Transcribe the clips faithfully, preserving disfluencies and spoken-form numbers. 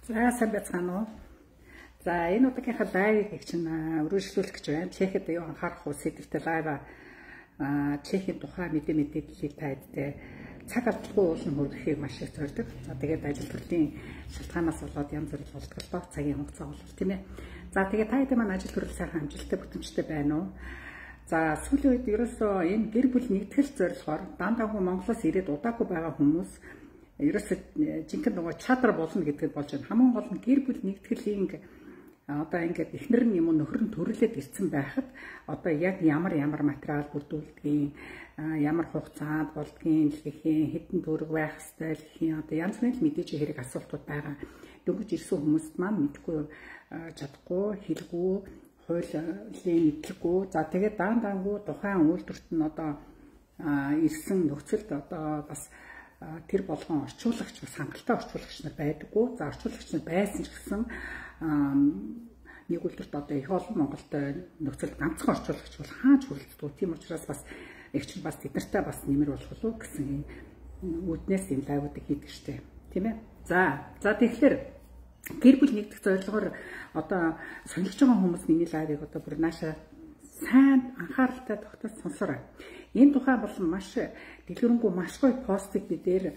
За сайн байцгаана уу. За энэ удаагийнхаа лайвыг чинь өргөжлүүлэх гэж байна. Чехэд юу анхаарах уу сэдвтэй лайв а Чехийн тухай мэдээ мэдээллийг та хэдтэй цаг алдалгүй уулын хөрөхийг маш их зорддог. За тэгээд ажил төрлийн шалтгаанаас болоод янз бүр болтголтой цагийн хугацаа болов тийм ээ. За тэгээд та хэдийн маань ажил төрөл сайхан амжилттай бүтэмжтэй байна уу? За сүүлийн үед ерөөсөө энэ гэр бүл нэгтгэл зорилгоор дандаа хүн Монголоос ирээд удаагүй байгаа хүмүүс ерөөсөө жинхэнэ нөгөө чадвар болно гэдгийг болж байна. Хамгийн гол нь гэр бүл нэгтгэлийн одоо ингээд эхнэр нь юм уу нөхөр нь төрөлөд ирсэн байхад одоо яг ямар ямар материал бүрдүүлдгийг, ямар хугацаанд болдгийг гэхийн, хэдэн төгрөг байх ёстой гэхийн одоо янз бүрийн мэдээж хэрэг асуултууд байгаа. Дөнгөж ирсэн хүмүүст маань мэдгүй чадахгүй, хэлгүй, хуулийн мэдлэггүй. За тэгээд даан даангуу тухайн үйлдвэрт нь одоо ирсэн нөхцөлд одоо бас тэр болгон орчуулагч бас хангалттай орчуулагч нар байдаггүй. За орчуулагч нар байсан ч гэсэн нэг үйлдвэрт одоо их олон Монголд нөхцөл ганцхан орчуулагч бол хаач хүрэлцдэг. Тийм учраас бас их ч бас тэднэртэй бас нэмэр болох уу гэсэн үүднээс юм лайвуудыг хийдэг штеп. Тийм ээ. За за тэгэхээр гэр бүл нэгдэх зорилгоор одоо сонирхож байгаа хүмүүс миний лайвыг одоо бүр нааша сайн анхааралтай тогтоож сонсоорой. Энэ тухай болон маш дэлгэрэнгүй маш гоё постыг би дээр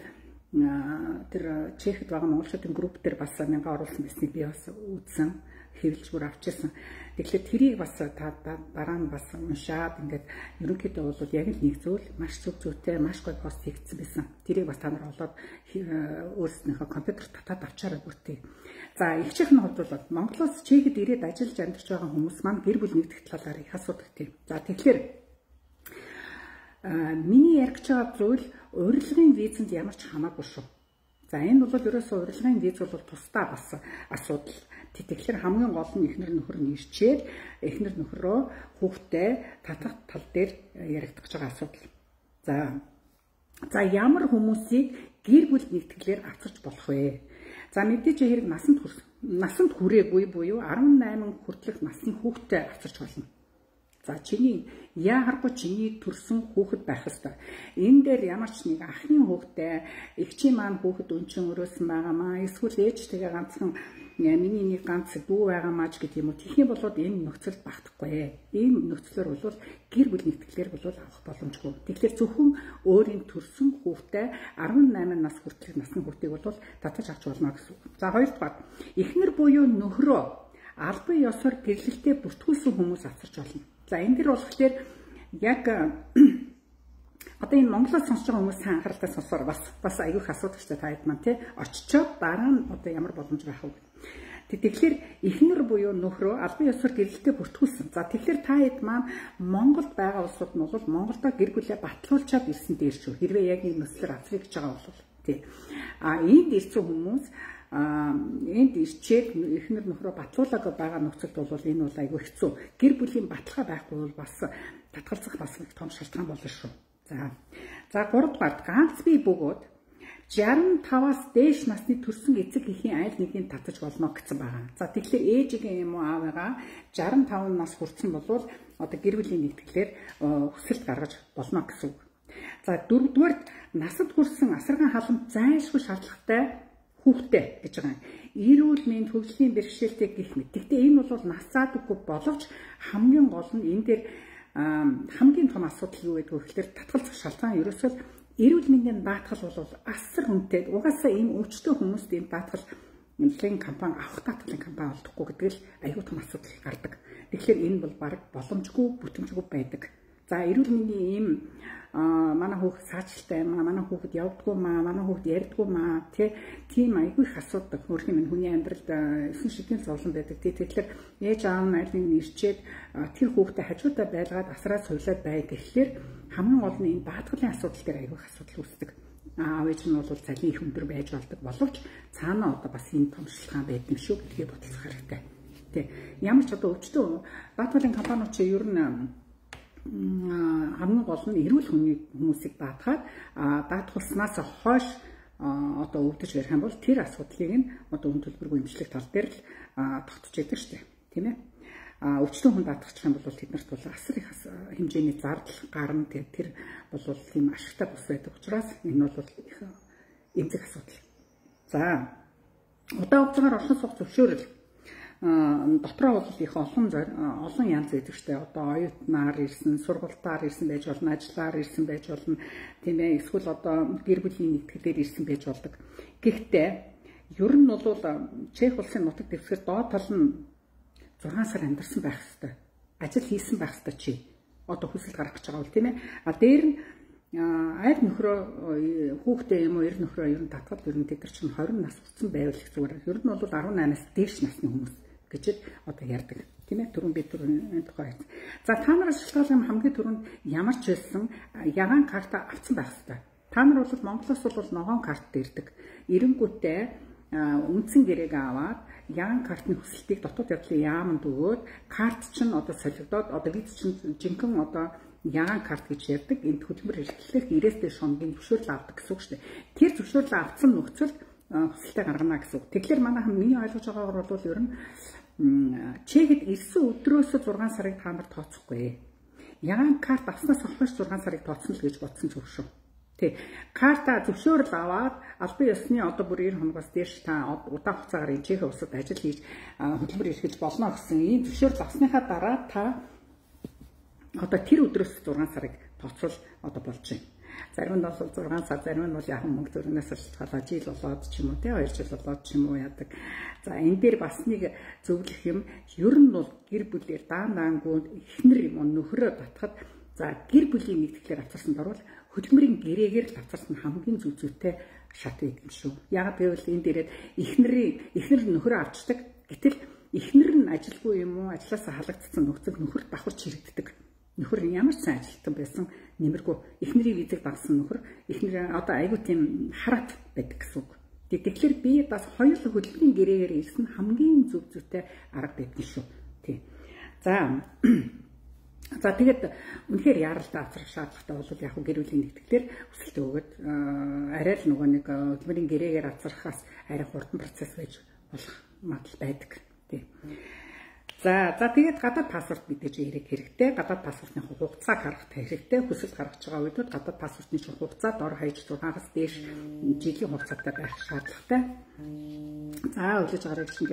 тэр Чехэд байгаа монголчуудын групп дээр бас мянган оруулсан байсныг би бас үзсэн, хэвлэж бүр авчихсан. Тэгэхээр тэрийг бас та дараа нь бас уншаад ингээд ерөнхийдөө бол яг л нэг зүйл маш зөв зөвтэй маш гоё пост хийгдсэн байсан. Тэрийг бас та нар олоод өөрснийхөө компьютерт татаад авчаарай бүртээ. За их чихний хувьд бол Монголоос Чехэд ирээд ажиллаж амьдарч байгаа хүмүүс маань гэр бүл нэгдэх талаар их асуудаг тийм. За тэгэхээр миний ярих гэж байгаа зүйл урилгын визэнд ямар ч хамаагүй шүү. За энэ бол ерөөсөө урилгын виз бол тусдаа бас асуудал. Тэгэхээр хамгийн гол нь эхнэр нөхөр нь ирчээд эхнэр нөхрөө хүүхдээ татах тал дээр яригдах байгаа асуудал. За за ямар хүмүүсийг гэр бүл нэгтгэлээр авчирч болох вэ? За мэдээж хэрэг насанд хүрсэн насанд хүрээгүй буюу арван найман хүртэлх насны хүүхдээ авчирч болно. За чиний яагаргүй чиний төрсөн хүүхэд байх ёстой. Энэ дээр ямар ч нэг ахны хүүхдээ эгчийн маань хүүхэд өнчин өрөөсөн байгаамаа эсвэл ээжтэйгээ ганцхан миний нэг ганц дүү байгаамаа ч гэдэг юм уу. Тэхийн болоод энэ нөхцөлд багтахгүй. Энэ нөхцлөөр бол гэр бүл нэгтгэлээр бол авах боломжгүй. Тэгэхээр зөвхөн өөрийн төрсөн хүүхдээ арван найман нас хүртэлх насны хүүхдийг бол татаж авч болно гэсэн үг. За хоёрдугаар эхнэр буюу нөхрөө албан ёсоор гэрлэлтэд бүртгүүлсэн хүмүүс авчирч болно. За энэ дэр болохоор яг одоо энэ Монголоос сонсож байгаа хүмүүс сайн анхааралтай сонсоор бас бас аюух асуудагчтай та хэд маань тий очичоод дараа нь одоо ямар боломж байх вэ? Тэгэхээр эхнэр буюу нөхрөө албан ёсоор гэрлэлтэд бүртгүүлсэн. За тэгэхээр та хэд маань Монголд байгаа улсууд нь бол Монголдо гэр бүлээ батлуулчаад ирсэн дээр шүү. Хэрвээ яг энэ нөхцөлөөр авчрах гэж байгаа бол тий. А энд ирсэн хүмүүс энд ирчээд эхнэр нөхрөө батлуулаг байгаа нөхцөлд бол энэ бол айгүй хэцүү. Гэр бүлийн баталгаа байхгүй бол бас татгалзах бас нэг том шалтгаан болно шүү. За. За гуравдугаар ганц бие бөгөөд шестдесет и пятаас дээш насны төрсэн эцэг эхийн айл нэгийг татаж болно гэсэн байгаа. За тэгэхээр ээжигийн юм уу аавыгаа шестдесет и пять нас хүрсэн бол одоо гэр бүлийн нэгтгэлээр хүсэлт гаргаж болно гэсэн үг. За дөрөвдүгээр насад хүрсэн асарган халамж зайлшгүй шаардлагатай хүүхдээ гэж байгаа. Эрүүл мэнд хөгжлийн бэрхшээлтэй гэх мэт. Гэхдээ энэ бол насаадаггүй боловч хамгийн гол нь энэ дээр хамгийн том асуудал юу гэдэг вэ гэхээр татгалзах шалтгаан ерөөсөө эрүүл мэндийн даатгал бол асар хүнтэй. Угаасаа энэ өвчтөе хүмүүст энэ даатгал нэмлэгийн компани авах даатгалын компани олдохгүй гэдэг л аюул том асуудал гардаг. Тэгэхээр энэ бол баг боломжгүй бүтэмжгүй байдаг. За эрүүл мэндийн ийм манай хүүхэд саачлалтай юм аа, манай хүүхэд явдггүй маа, манай хүүхэд ярьдггүй маа, тийм айгүй их асуудаг. Өөрөөр хэлбэл хүний амьдралд эсэн шидийн зовлон байдаг. Тэгэхээр ээж аав нь аль нэг ирчээд тэр хүүхдэд хажуудаа байлгаад асраад суйлаад бай гэхлээр хамгийн гол нь энэ даатгалын асуудал дээр айгүй их асуудал үүсдэг. Аав ээж нь бол цалин их өндөр байж болдог боловч цаанаа одоо бас энэ том шалтгаан байдаг юм шүү гэдгийг бодох хэрэгтэй. Тэ. Ямар ч одоо өвчтөө даатгалын компаниуд чи ер нь хамгийн гол нь эрүүл хүмүүсийг даатгаад даатгуулснаас хойш одоо өвдөж барих юм бол тэр асуудлыг нь одоо үн төлбөргүй эмчлэх тал дээр л тогтож яадаг шүү дээ. Тийм ээ. Өвчтөн хүн даатгачих юм бол тэднэрт бол асар их хэмжээний зардал гарна. Тэр бол тийм ашигтай бус байдаг учраас энэ бол их эмзэг асуудал. За Удаа хугацаагаар оршин суух зөвшөөрөл дотроо бол их олон олон янз байдаг штэ. Одоо оюутнаар ирсэн, сургалтаар ирсэн байж болно, ажиллаар ирсэн байж болно. Тийм ээ, эсвэл одоо гэр бүлийн нэгтгэлээр ирсэн байж болдог. Гэхдээ ер нь бол Чех улсын нутаг дэвсгэр доод тал нь зургаан сар амьдарсан байх ёстой. Ажил хийсэн байх ёстой чи. Одоо хүсэлт гаргах гэж байгаа бол тийм ээ. А дээр нь аль нөхрөө хүүхдээ юм уу эр нөхрөө ер нь татгал ер нь тэд нар чинь хорин нас хүрсэн байвал их зүгээр. Ер нь бол арван наймаас дээш насны хүмүүс гэж одоо ярьдаг. Тийм ээ, түрүүн бид түрүүн тухай. За та нараас шалтгаалсан хамгийн түрүүнд ямар ч байсан ягаан карта авсан байх ёстой. Та нар бол Монголоос бол ногоон карт ирдэг. Эренгүүтээ үндсэн гэрээг аваад ягаан картны хүсэлтийг дотоод явдлын яаманд өгөөд карт чинь одоо солигдоод одоо виз чинь жинхэнэ одоо ягаан карт гэж ярьдаг. Энд хөдөлмөр эрхлэх ирээс дэш шоногийн зөвшөөрөл авдаг гэсэн үг шүү дээ. Тэр зөвшөөрлөө авсан нөхцөлд хүсэлтээ гаргана гэсэн үг. Тэгэхээр манайхан миний ойлгож байгаагаар бол ер нь Чехэд ирсэн өдрөөс зургаан сарыг та нар тооцохгүй. Ягаан карт авснаас хойш зургаан сарыг тооцно л гэж бодсон ч шүү. Тэ. Карта зөвшөөрөл аваад албан ёсны одоо бүр эр хоногоос дээш та удаан хугацаагаар энэ Чех улсад ажил хийж хөдөлмөр эрхэлж болно гэсэн ийм зөвшөөрөл авсныхаа дараа та одоо тэр өдрөөс зургаан сарыг тооцвол одоо болж байна. Зарим нь бол зургаан сар, зарим нь бол яг мөнгө төрнөөс шалтгаалаад жил болоод ч юм уу, тэ хоёр жил болоод ч юм уу яадаг. За энэ дээр бас нэг зөвлөх юм, ер нь бол гэр бүлээр даан даангууд эхнэр юм нөхрөө татхад за гэр бүлийн нэгтгэлээр авцарсан дөрвөл хөдөлмөрийн гэрээгээр л авцарсан хамгийн зүг зүйтэй шат байдаг юм шүү. Яг гэвэл энэ дээрээ эхнэрийн эхнэр нөхрөө авчдаг. Гэтэл эхнэр нь ажилгүй юм уу, ажилласаа халагдсан нөхцөл нөхөр давхарч хэрэгддэг. Нөхөр ямар ч сайн ажилтан байсан нэмэргүй эхнэрийн визэг дагсан нөхөр эхнэр одоо айгүй тийм хараат байдаг гэсэн үг. Тэгэхээр би бас хоёр хөдөлмөрийн гэрээгээр ирсэн хамгийн зөв зүйтэй арга байдаг шүү. Тийм. За за тэгээд үнэхээр яаралтай авчрах шаардлагатай бол яг гэр бүлийн нэгтгэлээр өсөлт өгöd арай л нөгөө нэг хөдөлмөрийн гэрээгээр авчрахаас арай хурдан процесс байж болох магадлал байдаг. Тийм. За за тэгээд гадаад паспорт мэдээж ирэх хэрэгтэй. Гадаад паспортны хугацааг харах хэрэгтэй. Хүсэлт гаргаж байгаа үед гадаад паспортны хугацаа дор хаяж зургаагаас дээш жилийн хугацаатай байх шаардлагатай. За өглөж гарах чинь.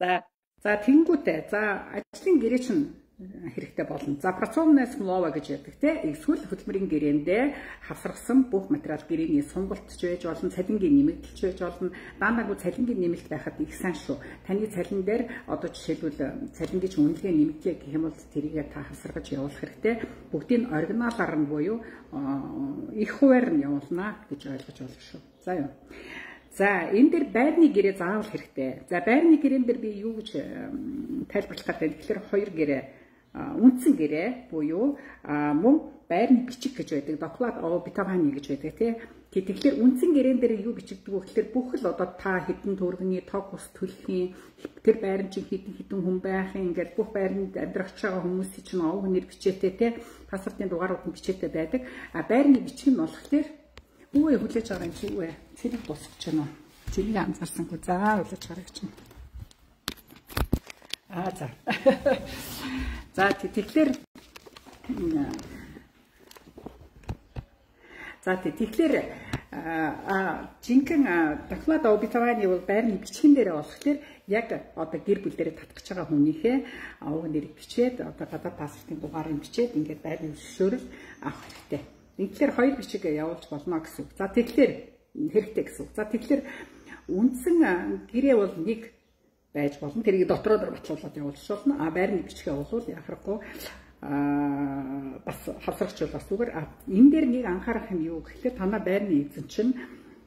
За за тэнгүүтээ за ажлын гэрээ чинь хэрэгтэй болно. За працовная смлова гэж ярьдаг те. Эсвэл хөдөлмөрийн гэрээндээ хавсаргасан бүх материал гэрээний сунгалт ч байж болно, цалингийн нэмэгдэлч байж болно. Даанаагүй цалингийн нэмэлт байхад их сайн шүү. Таны цалин дээр одоо жишээлбэл цалингийн үнэлгээ нэмэгдлээ гэх юм бол тэрийгээ та хавсаргаж явуулах хэрэгтэй. Бүгдийг оригиналаар нь буюу их хуваар нь явуулнаа гэж ойлгож байна шүү. За юу. За энэ дээр байрны гэрээ заавал хэрэгтэй. За байрны гэрээн дээр би юу гэж тайлбарлах гэдэг. Тэгэхээр хоёр гэрээ үндсэн гэрээ буюу мөн байрны бичиг гэж байдаг. Доклад обитовани гэж байдаг тий. Тэгэхээр үндсэн гэрээн дээр юу бичигдэг вэ гэхээр бүх л одоо та хэдэн төгрөгийн тог ус төлөхийн тэр байрны чинь хэдэн хэдэн хүн байхын ингээд бүх байранд амьдрах байгаа хүмүүсийн чинь овг нэр бичээтэй тий. Паспортын дугаарууд нь бичээтэй байдаг. А байрны бичиг нь болохоор үгүй хүлээж байгаа юм чи үгүй. Цэрэг босгож байна уу? Цэрэг анзаарсангүй. За хүлээж гарах чинь. Аа за. За тэгэхээр за тэгэхээр а жинхэнэ доклад обитовани бол байрны бичгэн дээр болохоор яг одоо гэр бүл дээр татгаж байгаа хүнийхээ овг нэрийг бичээд одоо гадаад паспортын дугаарыг бичээд ингээд байрны зөвшөөрөл авах хэрэгтэй. Тэгэхээр хоёр бичиг явуулж болно гэсэн үг. За тэгэхээр хэрэгтэй гэсэн үг. За тэгэхээр үндсэн гэрээ бол нэг байж болно. Тэрийг дотроо дор батлуулаад явуулж болно. А байрны бичгээ бол яхахгүй а бас хавсрагч бол бас зүгээр. Энэ дээр нэг анхаарах юм юу гэхлээр танаа байрны эзэн чинь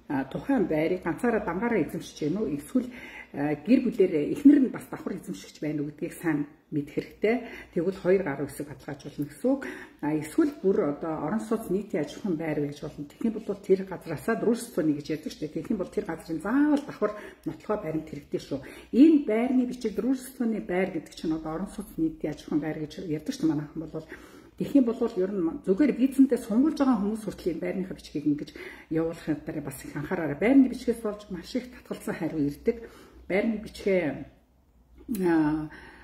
тухайн байрыг ганцаараа дамгаараа эзэмшиж гэнэ үү? Эсвэл гэр бүлээр эхнэр нь бас давхар эзэмшигч байна уу гэдгийг сайн мэдэх хэрэгтэй. Тэгвэл хоёр гаруй хэсэг баталгаажуулна гэсэн үг. А эсвэл бүр одоо орон сууц нийтийн аж ахуйн байр байж болно. Тэгэх юм бол тэр газраасаа дружествоны гэж ярьдаг шүү дээ. Тэгэх юм бол тэр газрын заавал давхар нотлохоо баримт хэрэгтэй шүү. Энэ байрны бичиг дружествоны байр гэдэг чинь одоо орон сууц нийтийн аж ахуйн байр гэж ярьдаг шүү. Манайхан бол тэгэх юм бол ер нь зүгээр визэнтэй сунгуулж байгаа хүмүүс хүртэл байрныхаа бичгийг ингэж явуулахын дараа бас их анхаараарай. Байрны бичгээс болж маш их татгалзсан хариу ирдэг. Байрны бичгээ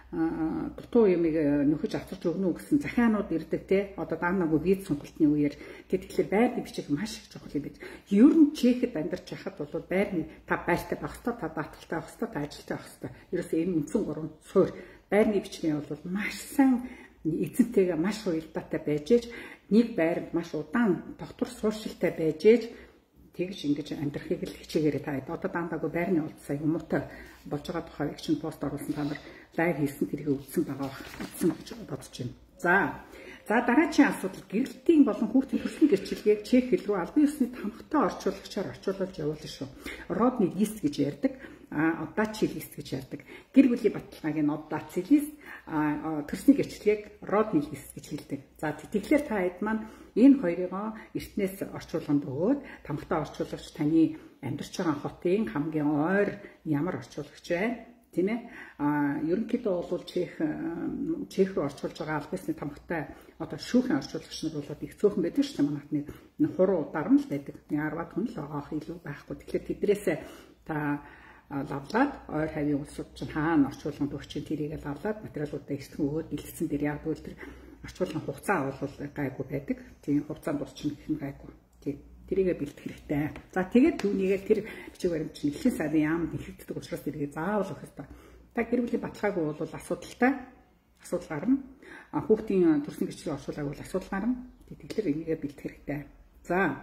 дутуу юмыг нөхөж авчирч өгнө үү гэсэн захианууд ирдэг те. Одоо даанаагүй виз сонголтын үеэр тэгэхээр байрны бичиг маш их чухал юм биш. Ер нь Чехэд амьдарч байхад бол байрны та байртай байх хэвээр, та даатгалтай байх хэвээр, та ажилтай байх хэвээр. Ерөөсөө энэ үндсэн гурван суурь байрны бичгийн бол маш сайн эзэнтэйгээ маш уялдаатай байж ээж нэг байранд маш удаан тогтвор сууршилтай байж ээж тэгж ингэж амьдрахыг л хичээгээрэй та. Одоо даандаагүй байрны улд сая хүмүүтэй болж байгаа тухайг чинь пост оруулсан та нар лайв хийсэн тэрийг үзсэн байгаа үзсэн гэж бодож байна. За. За дараагийн асуудал гэрэлтийн болон хүүхдийн төрлийн гэрчлэгийг чех хэл рүү албан ёсны тамхтай орчуулагчаар орчуулж явуулна шүү. Родный лист гэж ярьдаг. А оддачи лист гэж ярьдаг. Гэр бүлийн баталгааг нь оддачи лист, төрсний гэрчлэгийг родный лист гэж хэлдэг. За тэгэхээр та хэд маань энэ хоёроо эртнээс орчуулганд өгөөд тамхтай орчуулагч таны амьдарч байгаа хотын хамгийн ойр ямар орчуулагч вэ? Тийм ээ. А ерөнхийдөө бол Чех Чех рүү орчуулж байгаа албан ёсны тамхтай одоо шүүхэн орчуулагч нар бол их цөөхөн байдаг шүү дээ. Манайд нэг хуруу дарам л байдаг. Ярваад хүн л байгаа илүү байхгүй. Тэгэхээр тэдрээсээ та лавлаад ойр хавийн улсууд чинь хаана орчуулганд өгч тэрийг лавлаад материалуудаа эртхэн өгөөд бэлдсэн дээр яг бол тэр орчуулгын хугацаа бол гайгүй байдаг. Тийм хугацаанд дурчин гэх нь гайгүй. Тийм тэрийгэ бэлдэх хэрэгтэй. За тэгээд түүнийгээ тэр бичиг баримт чинь эхлэн сарын яамд нэхэгддэг учраас тэрийг заавал өгөх хэрэгтэй. Та гэр бүлийн баталгаагүй бол асуудалтай асуудал гарна. Хүүхдийн төрсөн гэрчлэлийн орчуулгаагүй бол асуудал гарна. Тэгэхээр энийгээ бэлдэх хэрэгтэй. За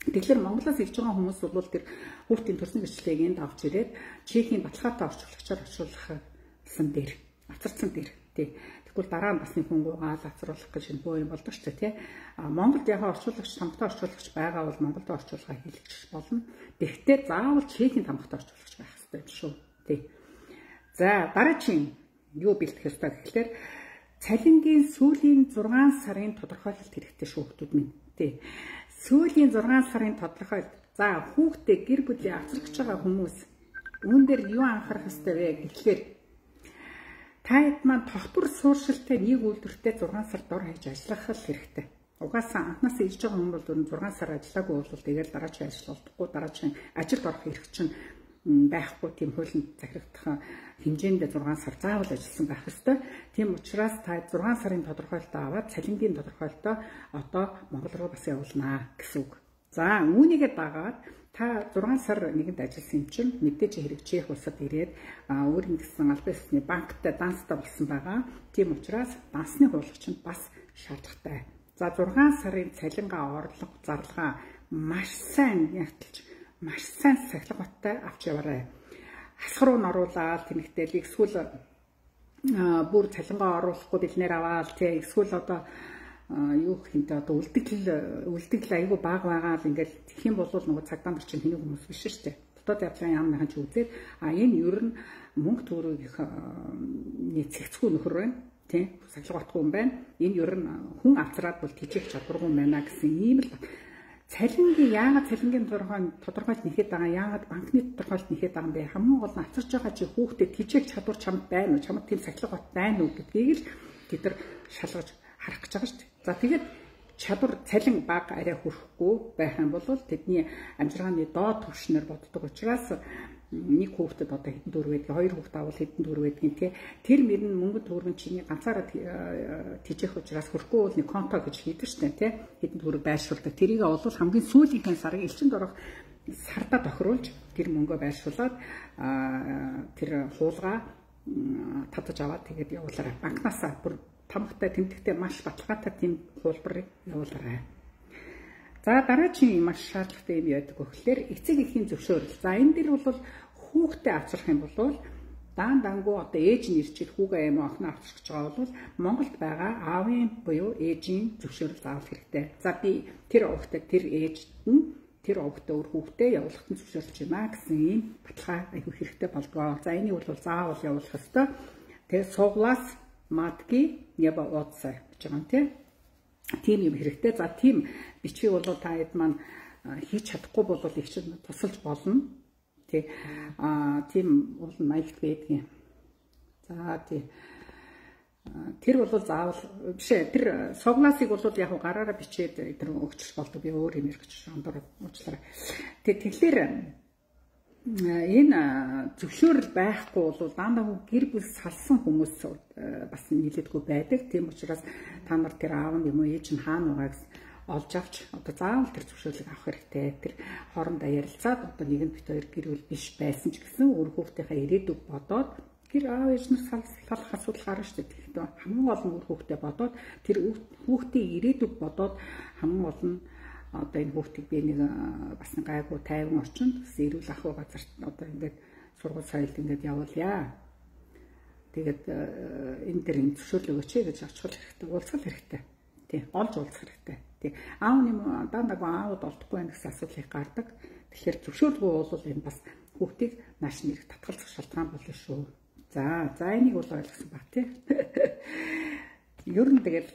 тэгэхээр Монголоос ирж байгаа хүмүүс бол тэр хүүхдийн төрсөн гэрчлэлийг энд авч ирээд Чехийн баталгаатай орчуулагчаар орчуулсан дээр, авцарсан дээр тий. Тэгвэл дараа нь бас нэг хүн гуйгаал авцруулах гэж энэ боо юм болдог ч тий. А Монголд яг орчуулагч, тамхтай орчуулагч байгаа бол Монголд орчуулга хийлгэж болно. Гэхдээ заавал Чехийн тамхтай орчуулагч байх хэрэгтэй юм шүү тий. За дараагийн юу бэлтгэх ёстой гэхэлэр цалингийн сүүлийн зургаан сарын тодорхойлолт хэрэгтэй шүү хүмүүс минь тий. Сүүлийн зургаан сарын тодорхойлолт. За хүүхдээ гэр бүлийн авчрагч байгаа хүмүүс үүн дээр юу анхаарах ёстой вэ гэхлээр та хэд маань тогтвор сууршилтай нэг үйлдвэртэй зургаан сар дор хаяж ажиллах хэрэгтэй. Угаасаа анхнаасаа ирж байгаа хүн бол зургаан сар ажиллаагүй бол тэгээд дараагийн ажил олдохгүй, дараагийн ажилд орох эрх чинь байхгүй, тийм хуулинд захирагдах хэмжээнд зургаан сар заавал ажилласан байх ёстой. Тийм учраас та зургаан сарын тодорхойлолтоо аваад цалингийн тодорхойлолтоо одоо Монгол руу бас явуулнаа гэсэн үг. За үүнийгээ дагаад та зургаан сар нэгэнд ажилласан юм чинь мэдээж хэрэг Чех улсад ирээд өөр нэгэн албан ёсны банктай данстай болсон байгаа. Тийм учраас дансны хуулагч нь бас шаардлагатай. За зургаан сарын цалингаа орлого зарлага маш сайн ягталж маш сайн сахилгаттай авч яваарай. Хасах руу оруулаад тэмэгтэйл эсвэл бүр цалингаа оруулахгүй бэлнээр аваад тий эсвэл одоо юу хинтээ одоо үлдэгдэл үлдэгдэл айгүй бага байгаа л ингээл тэгэх юм бол нөгөө цагдаа нар чинь хэнийг хүмүүс биш шүү дээ. Дотоод явдлын яамныхан ч үзээд а энэ ер нь мөнгө төгрөг их нийцэгцгүй нөхөр байна. Тий сахилгатгүй юм байна. Энэ ер нь хүн авцраад бол тийчих чадваргүй юм байна гэсэн ийм л цалингийн яагаад цалингийн тодорхойлолт нэхэд байгаа, яагаад банкны тодорхойлолт нэхэд байгаа юм бэ? Хамгийн гол нь авчирч байгаа чи хүүхдэд тийчээх чадвар чамд байна уу? Чамд тийм сахилга бат байна уу гэдгийг л тэд нар шалгаж харах гэж байгаа шүү дээ. За тэгээд чадвар цалин бага арай хүрэхгүй байх юм бол тэдний амжиргааны доод түвшнэр боддог учраас нэг хүүхдэд одоо хэдэн төгрөг байдаг, хоёр хүүхд авал хэдэн төгрөг байдаг тий. Тэр мөрн мөнгө төгрөг чиний ганцаараа тийжэх учраас хөрөхгүй бол нэг конто гэж хийдэг штэ тий. Хэдэн төгрөг байршуулдаг. Тэрийг бол хамгийн сүүлийнхэн сарын элчинд орох сарда тохируулж тэр мөнгөө байршуулад тэр хуулгаа татаж аваад тэгээд явуулаарай. Банкнасаа бүр тамхтай тэмдэгтэй маш баталгаатай тийм хуулбарыг явуулаарай. За дараагийн маш шаардлагатай юм яадаг гэхэлэр эцэг эхийн зөвшөөрөл. За энэ дэр бол хүүхдээ авчрах юм бол даан дангуу одоо ээж нь ирчил хүүгээ юм охин авчрах гэж байгаа бол Монголд байгаа аавын буюу ээжийн зөвшөөрөл заавал хэрэгтэй. За би тэр охтод тэр ээжд нь тэр охтод өөр хүүхдээ явуулахад нь зөвшөөрлж байна гэсэн ийм баталгаа айгүй хэрэгтэй болдгоо. За энийг бол заавал явуулах ёстой. Тэгээ суглаас матки неба отца гэж байгаа юм тийм. Тийм юм хэрэгтэй. За тийм бичиг бол та хэд маань хийж чадахгүй бол их чинь тусалж болно. Тий. Аа тийм бол маягт байдгийн. За тий. Тэр бол заавал биш ээ. Тэр согласыг бол яг гараараа бичээд тэр өгч болдог. Би өөр юм ярьж ондор уучлаарай. Тэг тэгэхээр энэ зөвшөөрөл байхгүй бол дандаа гэр бүл салсан хүмүүс бас нийлээдгүй байдаг. Тийм учраас та нар тэр аав нь юм уу ээж нь хаана байгаа гэсэн олж авч одоо заавал тэр зөвшөөрлийг авах хэрэгтэй. Тэр хоорондоо ярилцаад одоо нэг нь бит хоёр гэр бүл биш байсан ч гэсэн өөр хүүхдийнхээ ирээдүг бодоод гэр аав ээж нар салах асуудал гарна шүү дээ. Тэгэхээр хамгийн гол нь өөр хүүхдээ бодоод тэр хүүхдийн ирээдүг бодоод хамгийн гол нь одоо энэ хүүхдийг би нэг бас нэг гайгүй тайван орчинд эрүүл ах газарт одоо ингээд сургууль соёлд ингээд явуулъя. Тэгээд энэ дэр энэ зөвшөөрлөг өгөөч гэж очихвол хэрэгтэй, уулзах хэрэгтэй. Тий, олж уулзах хэрэгтэй. Тий. Аав нэм дандаа аауд олдохгүй байх гэсэн асуудал гардаг. Тэгэхээр зөвшөөрлгүй бол энэ бас хүүхдийг нааш нэрх татгалзах шалтгаан болно шүү. За, за энийг бол ойлгосон баг тий. Ер нь тэгээд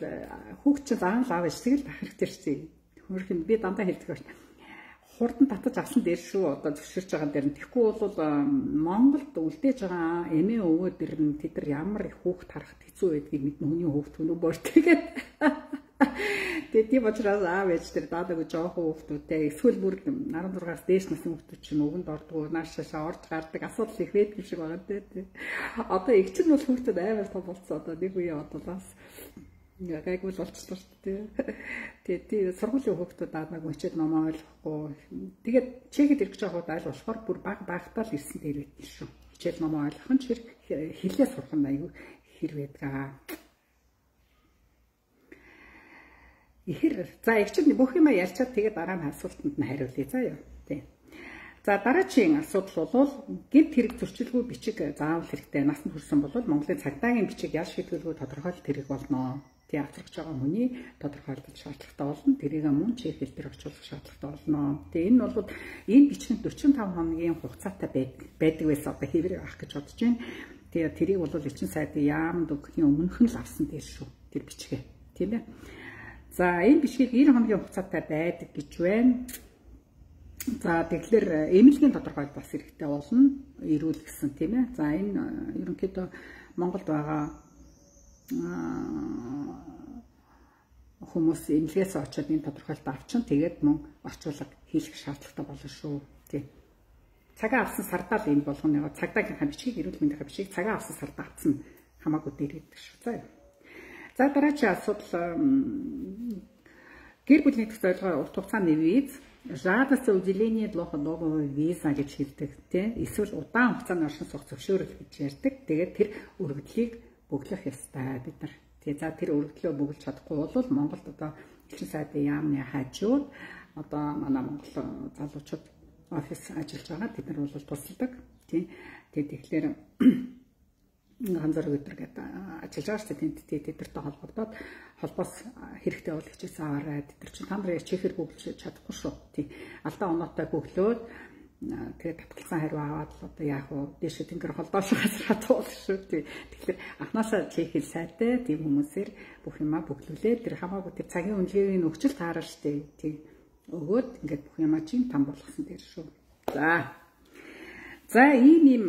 хүүхд чинь заавал аав ээжтэйг л байх хэрэгтэй шүү. Хөрхөн би дандаа хэлдэг байна. Хурдан татаж авсан дээр шүү одоо зөвшөөрч байгаа дээр нь. Тэгэхгүй бол Монголд үлдээж байгаа эмээ өвөө дээр нь тэд нар ямар их хүүхд харахад хэцүү байдгийг мэднэ хүний хүүхд өнөө бортгээд. Тэгээд тийм учраас аав ээж тэр даадаг жоохон хүүхдүүдтэй эсвэл бүр арван зургаас дээш насны хүүхдүүд чинь өгөнд ордог, наашаашаа орж гардаг асуудал их байдаг шиг байгаа дээ. Одоо эгч нь бол хүүхдүүд аймаар том болцсон одоо нэг үе одоо бас гайгүй л болчихсон шүү дээ. Тэгээд тий сургуулийн хүүхдүүд даанаг мөчөд номоо ойлгохгүй. Тэгээд чехэд ирэх жоохот айл болохоор бүр баг багтаа л ирсэн дээр байдсан шүү. Хичээл номоо ойлгох нь чир хэлээ сурах нь аюу хэр байдгаа. Ихэр за эгчд бүх юм ярьчаад тэгээд дараа нь асуултанд нь хариулъя заа юу. Тий. За дараагийн асуудал бол гид хэрэг зөрчилгүй бичиг заавал хэрэгтэй. Насанд хүрсэн бол Монголын цагдаагийн бичиг ял шийдвэргүй тодорхойлолт хэрэг болно. Тий авчрагч байгаа хүний тодорхойлох шаардлагатай болно. Тэрийг мөн чек хэлбэр орчуулах шаардлагатай болно. Тэгээ энэ бол энэ бичгийн дөрвөн таван хоногийн хугацаатай байдаг байсан одоо хэврэг авах гэж бодож байна. Тэгээ тэрийг бол элчин сайдын яамд өгөхийн өмнөх нь л авсан дээр шүү. Тэр бичгээ. Тийм ээ. За энэ бичгийг девять хоногийн хугацаатай байдаг гэж байна. За тэгэхээр эмнэлгийн тодорхойлолт бас хэрэгтэй болно. Ирүүл гэсэн тийм ээ. За энэ ерөнхийдөө Монголд байгаа хүмүүс эмнэлгээс очоод энэ тодорхойлолт авчин тэгээд мөн орчуулга хийх шаардлагатай болно шүү. Тийм. Цагаа авсан сардаа л энэ болгоно. Цагдаагийнхаа бичгийг эрүүл мэндийн бичгийг цагаа авсан сардаа авсан хамаагүй дээр гэдэг шүү. За. За дараагийн асуудал гэр бүлийн төлөвлөгөө урт хугацааны виз, жадас уделение долгонового виза гэж хэлдэг тийм. Эсвэл удаан хугацааны оршин суух зөвшөөрөл гэж ярьдаг. Тэгээд тэр өргөдлийг бөглөх ёстой бид нар. Тэгээ за тэр өргөдлөө бөглөж чадахгүй бол Монголд одоо элчин сайдын яамны хажууд одоо манай Монгол залуучууд офис ажиллаж байгаа. Бид нар бол тусалдаг тийм. Тэгээд тэгэхээр ганцаар өдөр гэдэг ажиллаж байгаа шүү дээ. Тэд тэдэртэй холбогдоод холбоос хэрэгтэй бол хичээсэн аваарай. Тэд нар чинь та нарын чекээр бөглөж чадахгүй шүү. Тийм. Алдаа оноотой бөглөөд тэгээд татгалзсан хариу аваад л одоо яах вэ? Дээш тэнгэр холдоош газар хатуул шүү. Тийм. Тэгэхээр анхнаасаа чекэл сайтай тийм хүмүүсээр бүх юмаа бөглүүлээд тэр хамаагүй тэр цагийн үнэлгээний нөхцөл таарна шүү дээ. Тийм. Өгөөд ингээд бүх юмаа чинь там болгосон дээр шүү. За. За ийм ийм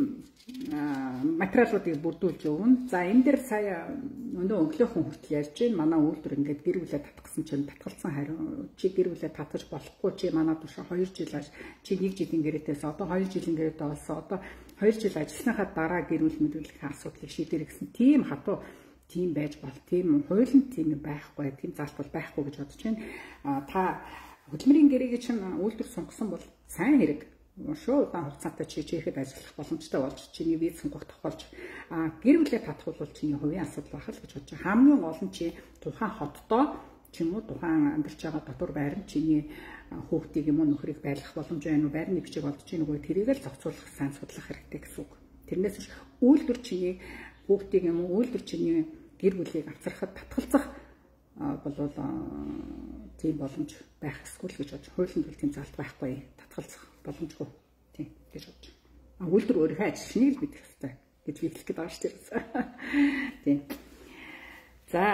материалуудыг бүрдүүлж өгнө. За энэ дээр сая өнөө өглөөхөн хүртэл ярьж байна. Манай үйлдвэр ингээд гэр бүлээ татгсан чинь татгалцсан хариу чи гэр бүлээ татаж болохгүй чи манай турш хоёр жил аж чи нэг жилийн гэрээтэйс одоо хоёр жилийн гэрээтэй болсон. Одоо хоёр жил ажилласныхаа дараа гэр бүл мэдрүүлэх асуудлыг шийдэр гэсэн тийм хатуу тийм байж бол тийм хуулийн тийм байхгүй тийм залтал байхгүй гэж бодож байна. Та хөдөлмөрийн гэрээгээ чинь үйлдвэр сонгосон бол сайн хэрэг. Шүү удаан хугацаатай чи чихэд ажиллах боломжтой болж чиний виз сонгох тохиолж а гэр бүлээ татах бол чиний хувийн асуудал байх л гэж бодож байгаа. Хамгийн гол нь чи тухайн хотдоо ч юм уу тухайн амьдарч байгаа дотор байр нь чиний хүүхдийг юм уу нөхрийг байлгах боломж байна уу, байрны бичиг олдож ийн үгүй тэрийг л зохицуулах сайн судлах хэрэгтэй гэсэн үг. Тэрнээс биш үйлдвэр чиний хүүхдийг юм уу үйлдвэр чиний гэр бүлийг авчрахад татгалзах болвол тийм боломж байх эсвэл гэж бодож хуулийн бол тийм залт байхгүй татгалзах боломжгүй тийм гэж бодож байна. А үйлдвэр өөрийнхөө ажилчныг л мэдэх хэрэгтэй гэж би хэлэх гээд байгаа шүү дээ. Тийм. За.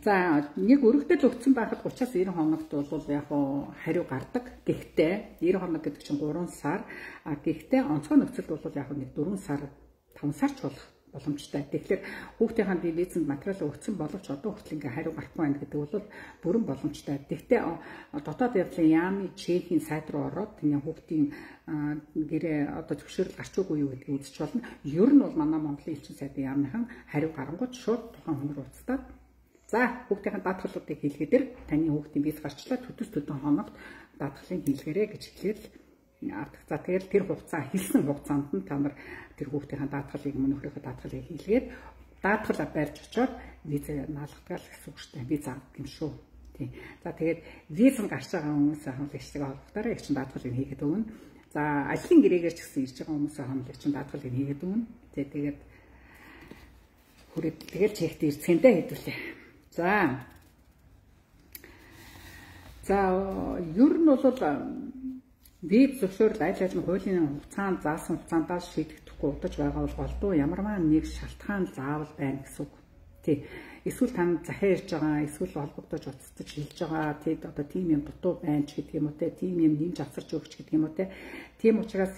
За нэг өргөдөл өгсөн байхад гуравчаас девять хоногт бол яг хариу гардаг. Гэхдээ девять хоног гэдэг чинь гурван сар. А гэхдээ онцгой нөхцөлд бол яг нэг дөрвөн сар, таван сар ч болох боломжтой. Тэгэхээр хүүхдийн бие визэнд материал өгсөн боловч одоо хүртэл ингээ хариу гарахгүй байна гэдэг бол бүрэн боломжтой. Гэхдээ дотоод явдлын яамны чехийн сайт руу ороод тэний хүүхдийн гэрээ одоо зөвшөөрөл гарч үгүй юу гэдгийг үзэж болно. Ер нь бол манай Монголын элчин сайдын яамныхан хариу гарангууд шууд тухайн хүн рүү уцтаад за хүүхдийн даатгалуудыг хийлгээдэр таны хүүхдийн виз гарчлаа төдөс төдөн хоногт даатгалыг хийлгээрэй гэж хэлээд за тэгэл тэр хугацаа хэлсэн хугацаанд нь та нар тэр хүүхдийн даатгалыг мөн нөхрийнхөө даатгалыг хийлгээд даатгал барьж очоод виз наалгадаг л гэсэн үг шүү дээ. Виз авдаг юм шүү. Тийм. За тэгээд виз гарч байгаа хүмүүсээ хамлагчтайгаа холбогдорой их чин даатгалыг хийгээд өгнө. За ажлын гэрээгээр ч гэсэн ирж байгаа хүмүүсээ хамлагчин даатгалыг хийгээд өгнө. Тэгээд хүрээд тэгэл чект ирцгээндээ хэдүүлээ. За. За ер нь бол виз зөвшөөрөл аль аль нь хуулийн хугацаанд заасан хугацаандаа шийдэгдэхгүй удаж байгаа бол голдуу ямарваа нэг шалтгаан заавал байна гэсэн үг. Тий. Эсвэл тань захиа ирж байгаа, эсвэл холбогдож уцтаж хэлж байгаа, тий одоо тийм юм дутуу байна ч гэдэг юм уу те, тийм юм нэмж авсарч өгч гэдэг юм уу те. Тийм учраас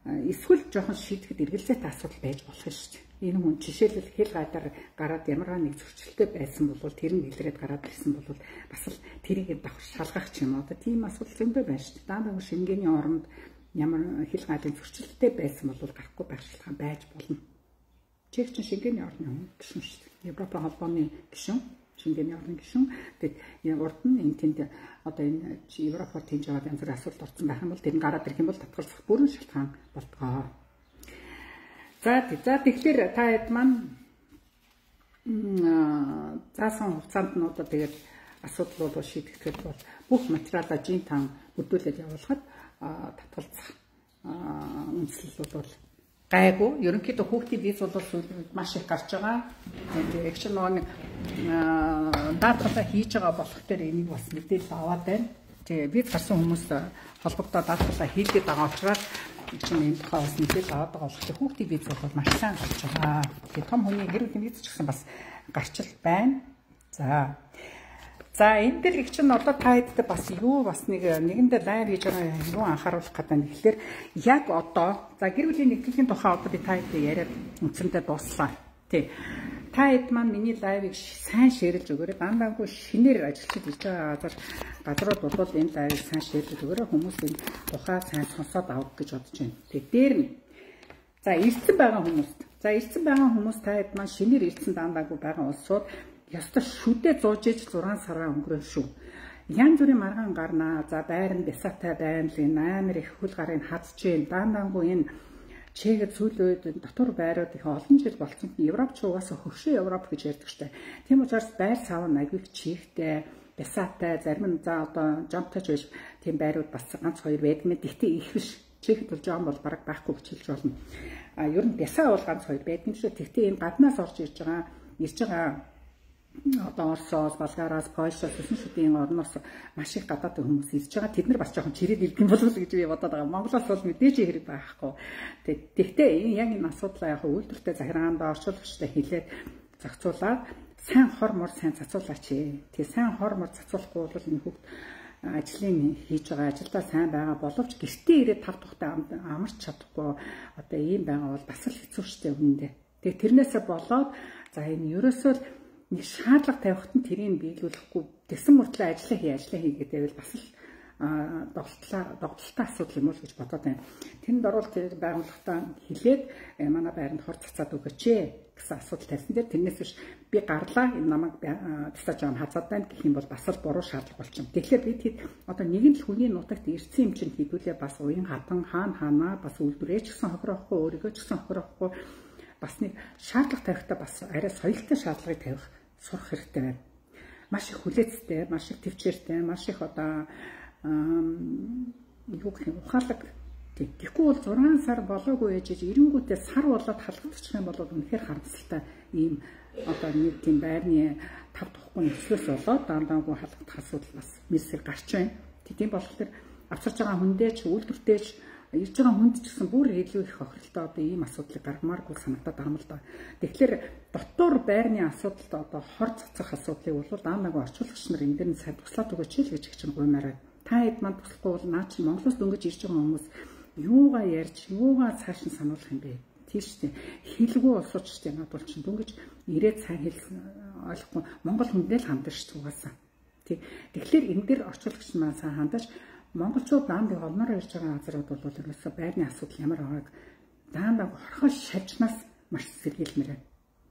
эсвэл жоохон шийдэхэд эргэлзээтэй асуудал байж болох шүү дээ. Энэ хүн жишээлбэл хэл гадар гараад ямарваа нэг зөрчилтэй байсан бол тэр нь илрээд гараад ирсэн бол бас л тэрийг давхар шалгах ч юм уу. Одоо тийм асуудал зөндөө байна шүү дээ. Даандаг Шенгений оронд ямар хэл гадын зөрчилтэй байсан бол гарахгүй байх шалтгаан байж болно. Чех чин Шенгений орны хүн гишүүн шүү дээ. Европын холбооны гишүүн, Шенгений орны гишүүн. Тэгээд урд нь энэ тэнд одоо энэ Европоор тэнж аваад янз бүрийн асуудал орсон байх юм бол тэр нь гараад ирэх юм бол татгалзах бүрэн шалтгаан болтгоо. За за тэгэхээр та хэд маань заасан хугацаанд нь одоо тэгээд асуудал бол шийдэгдэхэд бол бүх материалаа жин тан бүрдүүлээд явуулахад татгалзах үндэслэл бол гайгүй. Ерөнхийдөө хүүхдийн виз бол маш их гарч байгаа. Тэгээд их ч нэг даатгалаа хийж байгаа болох дээр энийг бас мэдээлэл аваад байна. Тэгээд виз гарсан хүмүүс холбогдоод даатгалаа хийлгээд байгаа учраас чинь энэ тухай бас мэдээлэл аваад байгаа болохоор хүүхдийн виз бол маш сайн гарч байгаа. Тэгээд том хүний гэр бүлийн виз ч гэсэн бас гарчил байна. За. За энэ дээр их чинь одоо та хэдтэй бас юу бас нэг нэгэндээ лайв хийж байгаа юу анхааруулах гэдэг нь тэгэхээр яг одоо за гэр бүлийн нэгтгэлийн тухай одоо би та хэдтэй яриад үндсэндээ дууслаа. Тий. Та хэд маань миний лайвыг сайн шеэрлж өгөөрэй. Дандаагүй шинээр ажиллаж ирж байгаа газар газрууд бол энэ лайвыг сайн шеэрлж өгөөрэй. Хүмүүс энэ тухай сайн сонсоод авах гэж бодож байна. Тэг дээр нь за ирсэн байгаа хүмүүст. За ирсэн байгаа хүмүүс та хэд маань шинээр ирсэн дандаагүй байгаа улсууд ёстой шүдэ зууж иж зургаан сараа өнгөрөө шүү. Янз бүрийн маргаан гарнаа. За байран бясаатай байна л энэ амар их хөл гарыг хадж जैन. Дандаагүй энэ Чехэд сүүлийн үед дотор байрууд их олон жил болсон. Европч угаасаа хөршөө Европ гэж ярьдаг штэ. Тийм учраас байр сав нь аягүй чихтэй, бясаатай, зарим нь за одоо жамтаж байж тийм байрууд бас ганц хоёр байдаг мэт. Гэхдээ их биш. Чехэд бол жам бол бараг байхгүй гэж хэлж болно. А ер нь бясаа бол ганц хоёр байдаг юм шүү. Гэхдээ энэ гаднаас орж ирж байгаа, ирж байгаа одоо Оросоос, Болгараас, Польшоос, Өсөн шүдийн орноос маш их гадаад хүмүүс ирж байгаа. Тэд нар бас жоохон чирээд ирэх юм болов уу гэж би бодоод байгаа. Монголоос бол мэдээж хэрэг байхгүй. Тэгэхдээ яг энэ асуудлаа яг үйлдвэртэй захиргаанд орчуулагчтай хэлээд зохицуулаад сайн хор мор сайн цацуулаач. Тэгээ сайн хор мор цацуулахгүй бол энэ хүүхд ажлын хийж байгаа ажилдаа сайн байгаа боловч гэртээ ирээд тав тухтай амарч чадахгүй одоо ийм байгаа бол бас л хэцүү шттэ үнэндээ. Тэгээ тэрнээсээ болоод за энэ ерөөсөө нэг шаардлага тавихт нь тэрийг биелүүлэхгүй тэгсэн мөртлөө ажиллаа хий ажиллаа хий гэдэг бол бас л догтлоо догтлолтой асуудал юм уу гэж бодоод байна. Тэнд орвол тэр байгууллагатаа хэлээд манай байранд хор цацаад өгөөч гэсэн асуудал тавьсан дээр тэрнээс биш би гарлаа энэ намайг тасаж аван хазаад байна гэх юм бол бас л буруу шаардлага болчихно. Тэгэхээр бид хэд одоо нэгэн л хүний нутагт ирсэн юм чинь хэдүүлээ бас уян хатан хаана хаанаа бас үйлдвэрээ ч гэсэн хохироохгүй өөрийгөө ч гэсэн хохироохгүй бас нэг шаардлага тавихтаа бас арай соёлтой шаардлагыг тавих сурах хэрэгтэй байна. Маш их хүлээцтэй, маш их төвчээртэй, маш их одоо юу гэх юм ухаалаг. Тэгэхгүй бол зургаан сар болоогүй ээжиж эренгүүтээ сар болоод халагдчих юм бол үнэхээр харамсалтай ийм одоо нэг тийм байрны тав тухгүй нөхцлөөс болоод даандаагүй халагдах асуудал бас мэсэг гарч байна. Тийм болохоор авчирч байгаа хүндээч үйлдвэртэйч ирж байгаа хүнд ч гэсэн бүр илүү их хохиролтой одоо ийм асуудлыг гаргамааргүй санагдаад байгаа юм л да. Тэгэхээр дотор байрны асуудалд одоо хор цацах асуудлыг бол даанаагүй орчуулагч нар энэ дэр нь сайн туслаад өгөөч л гэж их чинь гуймаар байна. Та хэд манд туслахгүй бол наа чи Монголоос дөнгөж ирж байгаа хүмүүс юугаа ярьж, юугаа цааш нь сануулах юм бэ? тийш үү. Хэлгүй улсууд ч тийм надад бол чинь дүнгэж ирээд сайн хэл ойлгохгүй Монгол хүндээ л хандаж шүү угаасаа. Тий. Тэгэхээр энэ дээр орчуулагч маань сайн хандаж монголчууд даандаг олноор ирж байгаа газрууд бол ерөөсөө байрны асуудал ямар байгааг даандаг хорхол шалжнаас маш сэргийлмээр байна.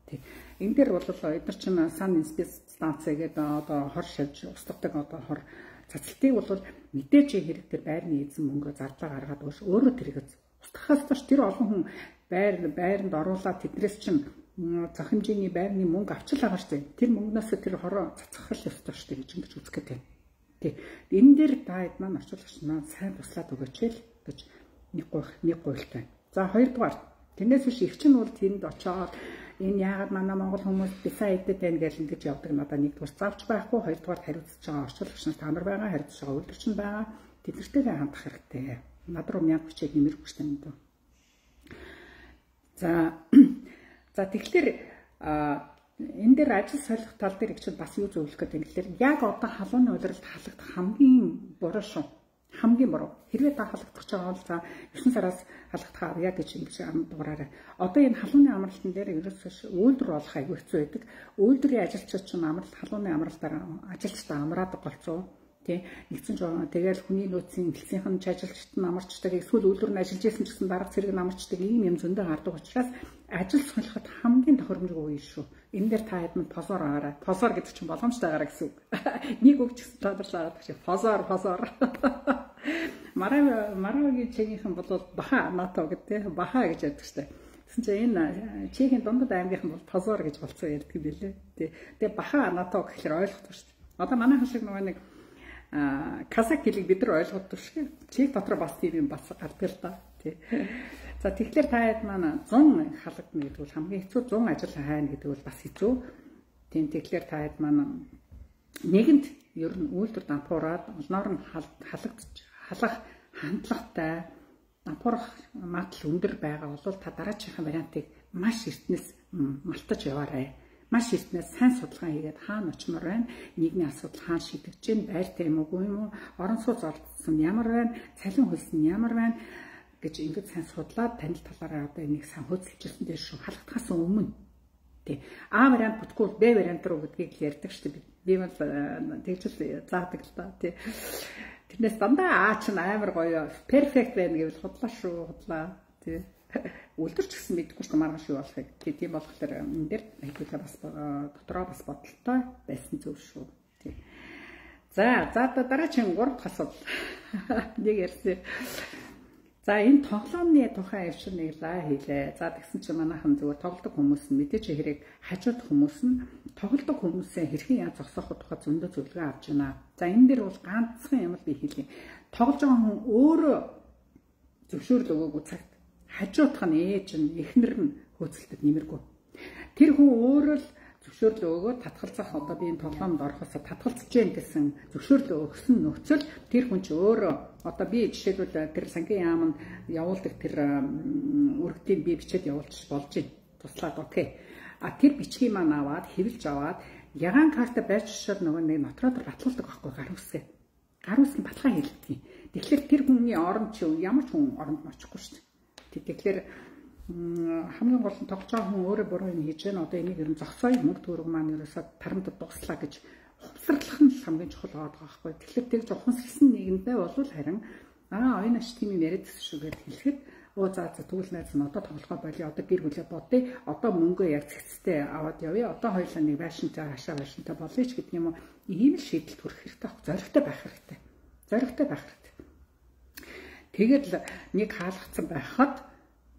Тий. Энэ дээр бол эдгээр чинь сан инспекц станц гэдэг одоо хор шалж устгадаг одоо хор цацалтыг бол мэдээж хэрэг тэр байрны эзэн мөнгө зардлаа гаргаад өгш өөрөө тэрийг устгахаас доош тэр олон хүн байр байранд оруулаад тэднээс чинь зах хэмжээний байрны мөнгө авчил байгаа шүү дээ. Тэр мөнгнөөс тэр хороо цацгах ёстой шүү дээ гэж ингэж үзэх гэдэг. Тий. Энэ дээр та хэд маань орчуулагч маань сайн туслаад өгөөч л гэж нэг гуйх нэг гуйлтай. За хоёрдугаар тэрнээс биш их чинь бол тэнд очоод энэ яагаад манай монгол хүмүүс бисаа идэт байна гэж ингэж явдаг надад нэгдүгээр завч байхгүй, хоёрдугаар хариуцж байгаа орчуулагч нар та нар байгаа, хариуцж байгаа үйлдвэрч нь байгаа. Тэднэртэйгээ хандах хэрэгтэй. Над руу мянга хүчээр нэмэрх хүчтэй юм дөө. За за тэгэхээр энэ дээр ажил солих тал дээр их ч бас юу зөвлөх гэдэг юм гэхээр яг одоо халууны улиралд халагдах хамгийн буруу шүү. Хамгийн буруу. Хэрвээ та халагдах гэж байгаа бол за есөн сараас халагдах авъя гэж ингэж дуураарай. Одоо энэ халууны амралтын дээр ерөөсөө үйлдвэр болох аягүй хэцүү байдаг. Үйлдвэрийн ажилчид ч амралт халууны амралтаар ажилчдаа амраадаг болцоо. Тий. Нэгцэн жоо тэгэл хүний нөөцийн хэлцийнх нь ажилчид нь амарчдаг, эсвэл үйлдвэр нь ажиллаж исэн ч гэсэн дарга зэрэг нь амарчдаг ийм юм зөндөө гардаг учраас ажил солиход хамгийн тохиромжгүй үе шүү. Энэ дээр та хэд нь позор аваарай. Позор гэдэг чинь боломжтой гараа гэсэн үг. Нэг үг ч гэсэн тодорхойлоод байгаа чинь позор позор. Мараа марагийн чигийнхэн бол баха нато гэдэг баха гэж яддаг штэ. Тэгсэн чинь энэ чигийн дундад аймгийнхан бол позор гэж болцоо ярьдаг юм билээ. Тэгээ баха нато гэхээр ойлгох шүү дээ. Одоо манайхан шиг нөгөө нэг казак хэлийг бид нар ойлгодог шиг чиг дотор бас тийм юм бас гардаг л да. Тий. За тэгэхээр та хэд маань зун халагдана гэдэг бол хамгийн хэцүү, зун ажил хайна гэдэг бол бас хэцүү. Тийм тэгэхээр та хэд маань нэгэнт ер нь үйлдвэр дампуураад олноор нь халагдж халах хандлагатай дампуурах магадлал өндөр байгаа бол та дараачихын вариантыг маш эртнээс малтаж яваарай. Маш эртнээс сайн судалгаа хийгээд хаана очимоор байна, нийгмийн асуудал хаана шийдэгдэж байна, байртай юм уу, юм уу, орон сууц олдсон ямар байна, цалин хөлсөн ямар байна гэж ингэж сайн судлаад танил талаараа одоо энийг сайн хөөцөлжүүлсэн дээр шүү халагдахаас өмнө. Тий. А вариант бүтггүй Б вариант руу гэдгийг ярьдаг шүү дээ. Би бол тэгжэл заадаг л да. Тий. Тэрнээс дандаа А чинь амар гоё перфект байна гэвэл худлаа шүү, худлаа. Тий. Үлдэрч гэсэн мэдэхгүй ч маргааш юу болохыг. Тийм болохоор энэ дээр айгуулаа бас дотроо бас бодолтой байсан зөв шүү. Тий. За, за дараагийн гурав дахь асуудал. Нэг ярьсан. За энэ тоглоомны тухай авшир нэг лаа хийлээ. За тэгсэн чинь манайхан зүгээр тоглодог хүмүүс нь мэдээж хэрэг хажууд хүмүүс нь тоглодог хүмүүсээ хэрхэн яаж зогсооход тухай зөндөө зөвлөгөө авч байна. За энэ дээр бол ганцхан юм л би хэлье. Тоглож байгаа хүн өөрөө зөвшөөрөл өгөөгүй цагт хажуудах нь ээж нь эхнэр нь хөөцөлдөд нэмэргүй. Тэр хүн өөрөө л зөвшөөрөл өгөө татгалзах одоо би энэ тоглоомд орохосоо татгалзаж гэн гэсэн зөвшөөрөл өгсөн нөхцөл тэр хүн ч өөрөө одоо би жишээлбэл тэр сангийн яам нь явуулдаг тэр үргэлтийн би бичээд явуулчих болж байна. Туслаад окей. А тэр бичгийг маань аваад хэвлж аваад ягаан карта байж шууд нөгөө нэг нотроод батлуулдаг байхгүй гар үсгээ. Гар үсгийн баталгаа хийлдэг. Тэгэхээр тэр хүний оронд чи ямар ч хүн оронд очихгүй шүү дээ. Тэгэхээр хамгийн гол нь тогтцоо хүн өөрөө буруу юм хийж байна. Одоо энийг ер нь зогсоё мөнгө төгрөг маань ерөөсөө тарамд дуслаа гэж хувцарлах нь хамгийн чухал байгаа байхгүй. Тэгэхээр тэр ухамсарлсан нийгэмдээ бол харин аа энэ аш тийм юм яриадсэн шүү гэж хэлэхэд оо за за тэгвэл найз нь одоо тоглохоо болио. Одоо гэр бүлээ бодъё. Одоо мөнгөө яг цэцтэй аваад явъя. Одоо хоёулаа нэг байшинтай хашаа байшинтай болъё ч гэдэг юм уу. Ийм л шийдэлд хүрэх хэрэгтэй байхгүй. Зоригтой байх хэрэгтэй. Зоригтой байх хэрэгтэй. Тэгээд л нэг хаалгацсан байхад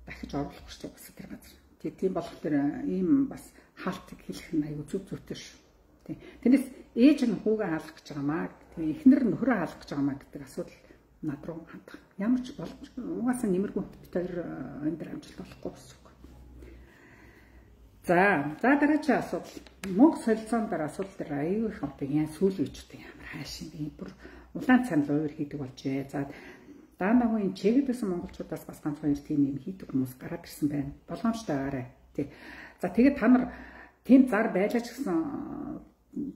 дахиж оруулахгүй шүү бас тэр газар. Тийм болохоор ийм бас хаалтыг хэлэх нь аюу зүг зүйтэй шүү. Тийм. Тэрнээс ээж нь хүүгээ хаалгах гэж байгаамаа, тийм эхнэр нь нөхрөө хаалгах гэж байгаамаа гэдэг асуудал над руу хандах. Ямар ч боломж угаасаа нэмэргүй бид хоёр энэ дээр амжилт олохгүй гэсэн үг. За, за дараагийн асуудал. Мөнгө солилцоон дээр асуудал дээр аюу их одоо яа сүүл үечтэй ямар хаашин би бүр улаан цанал уур хийдэг болжээ. За даанаагүй энэ чигэдсэн монголчуудаас бас ганц хоёр тийм юм хийдэг хүмүүс гараад ирсэн байна. Болгоомжтой байгаарай. Тий. За тэгээд та нар тийм зар байлаач гэсэн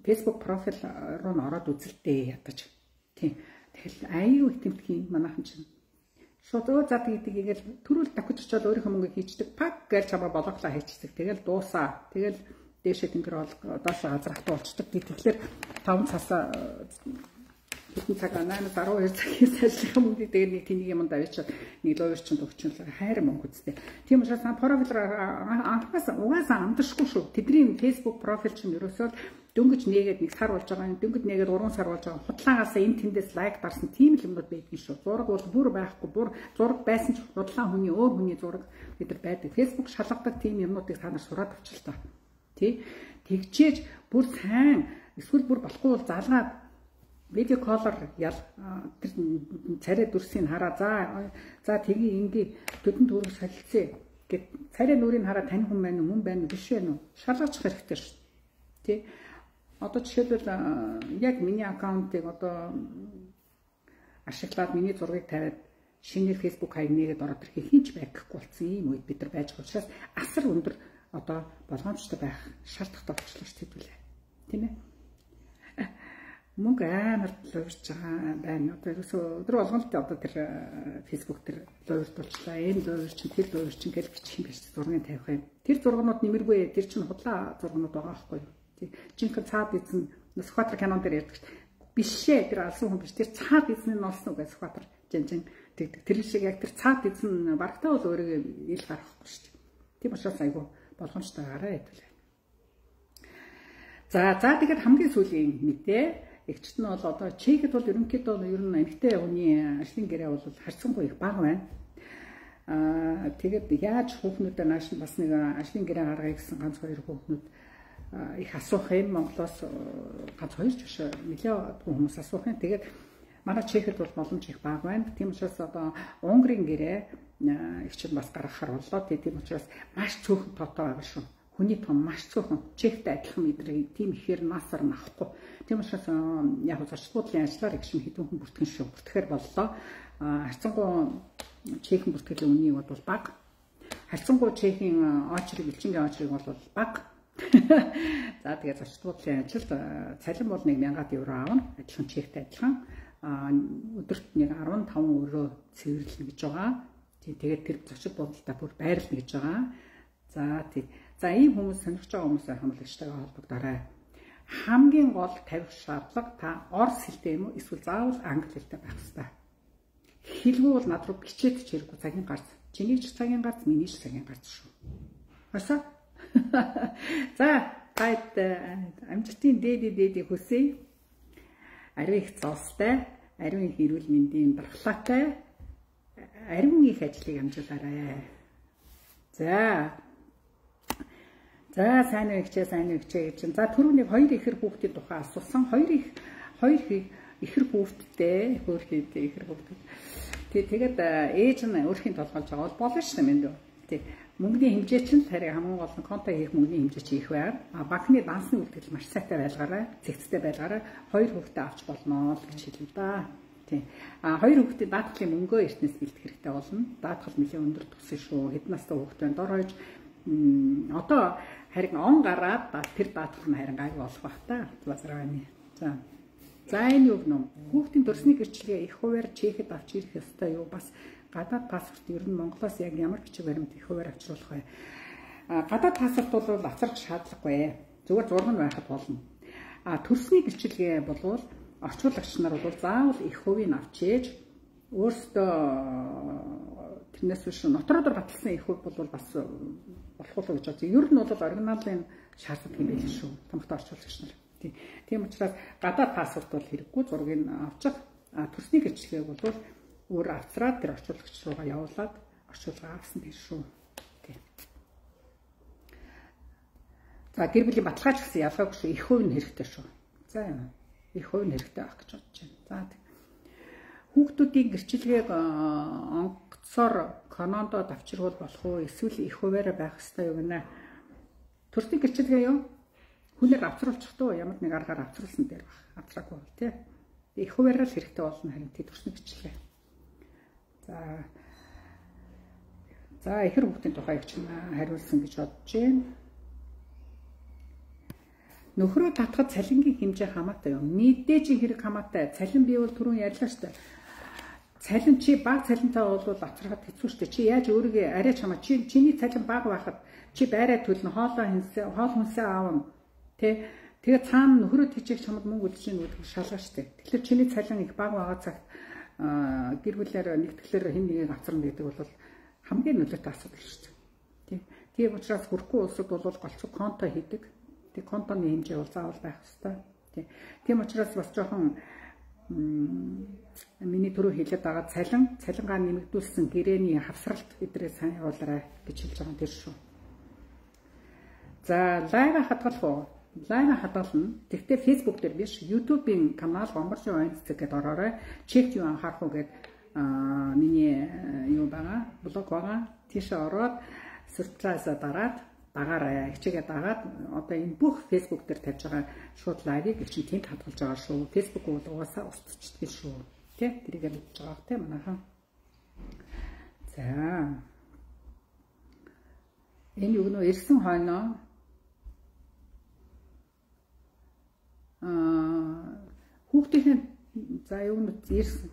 Facebook профиль руу н ороод үзэлтэй ядаж. Тий. Тэгэл аюу их тэмдгийн манайхан чинь Шууд өө зад гэдэг игээл төрүүл давхиж очиод өөрийнхөө мөнгөийг хийчдэг. Пак гэж чамаа болгоглаа хийчихдэг. Тэгэл дуусаа. Тэгэл дээшээ тэнгэр бол доошоо газрахтаа болчдөг. Тэгэхээр таван цасаа хэдэн цагаа наймаас арван хоёр цагийн ажиллах мөнгөийг тэгээд нэг тэнийг юмд авчиад нэг лойер чинь төгчнөл хайр мөнгө үстэй. Тийм учраас профил анхаас угаасаа амдашгүй шүү. Тэдний Facebook профил чинь ерөөсөө дөнгөж нээгээд нэг сар болж байгаа. Дөнгөж нээгээд гурван сар болж байгаа. Худлаагаас энэ тэндээс лайк дарсан тийм л юмнууд байдгийн шүү. Зураг бол бүр байхгүй. Бүр зураг байсан ч худлаа хүний өөр хүний зураг бид нар байдаг. Facebook шалгадаг тийм юмнуудыг та нар сураад авчлаа. Тэ? Тэгчээж бүр сайн эсвэл бүр болохгүй бол залгаад видео коллор ял тэр царай дүрсийг хараа за за тгий ингээ төдөн төрөг солилцъя гэд царай нүрийг хараа тань хүн байна уу мөн байна уу биш байна уу шалгаж хэрэгтэй шүү. Тэ одоо жишээлбэл яг миний аккаунтыг одоо ашиглаад миний зургийг тавиад шинээр Facebook хаяг нээгээд ороод ирэхийг хинч байхгүй болсон юм үед бид нар байж байгаа учраас асар өндөр одоо болгоомжтой байх шаардлагатай болчихлоо шүү дээ. Тийм ээ. Мөнгө амар луурж байгаа байна. Одоо ерөөсөө өдөр болгоно л одоо тэр Facebook дээр луурдуулчлаа. Энэ луурч чинь тэр луурч чинь гэж бичих юм биш зургийг тавих юм. Тэр зургууд нэмэргүй. Тэр чинь худлаа зургууд байгаа байхгүй юу? Тий. Жинхэнэ цаад эзэн Сүхбаатар кинон дээр ярьдаг. Бишээ тэр алсан хүн биш. Тэр цаад эзэн нь олсон уу гэж Сүхбаатар жинжин тэгдэг. Тэр шиг яг тэр цаад эзэн барагтаа бол өөрийгөө ил гаргахгүй шүү дээ. Тийм учраас айгу болгоомжтой гараа хэвлээ. За за тэгээд хамгийн сүүлийн мэдээ эгчт нь бол одоо Чехэд бол ерөнхийдөө ер нь эмэгтэй хүний ажлын гэрээ бол харьцангуй их бага байна. Аа тэгээд яаж хүүхнүүдэд нааш бас нэг ажлын гэрээ гаргая гэсэн ганц хоёр хүүхнүүд их асуух юм Монголоос ганц хоёр ч биш нэлээд хүмүүс асуух юм. Тэгээд манай Чехэд бол боломж их бага байна. Тийм учраас одоо Унгарын гэрээ эгчт бас гаргахаар боллоо. Тийм учраас маш цөөхөн тоотой байгаа шүү. Хүний том маш цөөхөн Чехтэй адилхан мэдрэг тийм ихээр насар нахгүй. Тийм учраас яг зочдлын ажиллаар их шин хэдэн хүн бүртгэн шүү. Бүртгэхээр боллоо. Харьцангуй Чехийн бүртгэлийн үнийг бол бага. Харьцангуй Чехийн очрыг элчингийн очрыг бол бага. За тэгээд зочдлын ажилд цалин бол нэг мянган евро аавна. Адилхан Чехтэй адилхан. Өдөрт нэг арван таван өрөө цэвэрлэнэ гэж байгаа. Тэгээд тэр зочид бодолтой бүр байрлна гэж байгаа. За тий. За ийм хүмүүс сонирхож байгаа хүмүүсээ хамлагчтайгаа холбогдорой. Хамгийн гол тавих шаардлага та орос хэлтэй юм уу эсвэл заавал англи хэлтэй байх хэрэгтэй. Хэлгүй бол над руу бичээд ч хэрэггүй цагийн гарц. Чиний ч цагийн гарц, миний ч цагийн гарц шүү. Хасаа. За тайд амжилтын дээдээ дээдээ хүсье. Ариун их цаастай, ариун их эрүүл мэндийн дархлаатай, ариун их ажлыг амжуулаарай. За За сайн уу ихчээ сайн уу ихчээ гэж. За түрүүний хоёр ихэр хүүхдийн тухай асуусан. Хоёр их хоёр ихэр хүүхдтэй, хөөрхийдээ ихэр хүүхд. Тэг тэгээд ээж нь өөрхийн толгойлж байгаа бол болно шүү дээ мэндүү. Тэг мөнгөний хэмжээ чинь харин хамгийн гол нь конто хийх мөнгөний хэмжээ чи их байна. А банкны дансны үйлдэл маш сайтай байлгаарай, зэгцтэй байлгаарай. Хоёр хүүхдээ авч болно л гэж хэлв да. Тэг. А хоёр хүүхдийн даатгалын мөнгөө эртнээс бэлдэх хэрэгтэй болно. Даатгал нэлээд өндөр төсөө шүү. Хэдэн настай хүүхд байна? Дор хойж одоо харин он гараад тэр даатгал нь харин гайг болох бах та. Базарны. За. За энэ юу гэнэ? Хүүхдийн дурсны гэрчлэгээ их хуваар Чехэд авч ирэх ёстой юу? Бас гадаад паспорт ер нь Монголоос яг ямар бичиг баримт их хуваар авчруулах вэ? А гадаад паспорт бол авчрах шаардлагагүй. Зүгээр зураг нь байхад болно. А төрсний гэрчлэгээ болвол орчуулагч нар бол заавал их хувийг авч ээж өөрсдөө тэрнээс биш нотродор батлсан их хувь бол бас болох уу гэж байна. Ер нь бол оригиналын шаардлагатай юм байл шүү. Томхтой орчуулагч нар. Тийм учраас гадаад паспорт бол хэрэггүй зургийг авчих. А төрсний гэрчлэгийг бол өөр авцраад тэр орчуулагч руугаа явуулаад орчуулга авсан гэж шүү. Тийм. За гэр бүлийн баталгаач гэсэн ялгаагүй шүү. Их хувь нь хэрэгтэй шүү. За юм. Их хувь нь хэрэгтэй байх гэж бодож байна. За хүүхдүүдийн гэрчлэгийг онгоцоор канондод авчирвал болох уу? Эсвэл их хуваараа байх ёстой юу гэнэ? Төрсний гэрчлэгээ юу? Хүнээр авчруулчихдоо ямар нэг аргаар авчруулсан дээр баг. Авчраагүй бол тий. Их хуваараа л хэрэгтэй болно харин тий төрсний гэрчлэгээ. За. За ихэр хүүхдийн тухай их чинь хариулсан гэж бодож байна. Нөхрөө татхад цалингийн хэмжээ хамаатай юу? Мэдээж хэрэг хамаатай. Цалин бий бол түрүүн ярьлаа шүү дээ. цалин чи баг цалинтай бол авчрахад хэцүү шүү дээ. Чи яаж өөрийгөө арай чамаа чи чиний цалин баг байхад чи байраа төлнө, хоолоо хинсээ, хоол хүнсээ аавна. Тэ тэгээ цаана нөхрөө тийчих чамд мөнгө үлдэж ийн гэдэг шалгаа шүү дээ. Тэгэхээр чиний цалин их баг байгаа цагт гэр бүлээр нэгтгэхлээр хэн нэгийг авчрна гэдэг бол хамгийн нөлөөтэй асуудал шүү дээ. Тийм учраас хөрхгүй улсад бол голцог конто хийдэг. Тэг контоны хэмжээ бол заавал байх хэрэгтэй. Тийм учраас бас жоохон миний түрүү хэлээд байгаа цалин, цалингаа нэмэгдүүлсэн гэрээний хавсралт эдрээ сайн явуулаарай гэж хэлж байгаа юм тэр шүү. За, лайв хадгалах уу? Лайв хадгална. Тэгтээ Facebook дээр биш, YouTube-ийн канал Гомборшин Ойнцэг гэдээ ороорой. Чек юу анхаарах уу гэд аа миний юу байгаа, блог байгаа. Тийшээ ороод сюрпрайза дараад дагаарай. Хичээгээ дагаад одоо энэ бүх Facebook дээр тавьж байгаа шууд лайвыг их чинь тэнд хадгалж байгаа шүү. Facebook бол угаасаа устцдаг шүү. Тэ? Тэрийг мэдж байгаа тэ манайхан. За. Энэ юу нөө ирсэн хойноо аа хүүхдийн за юу нэ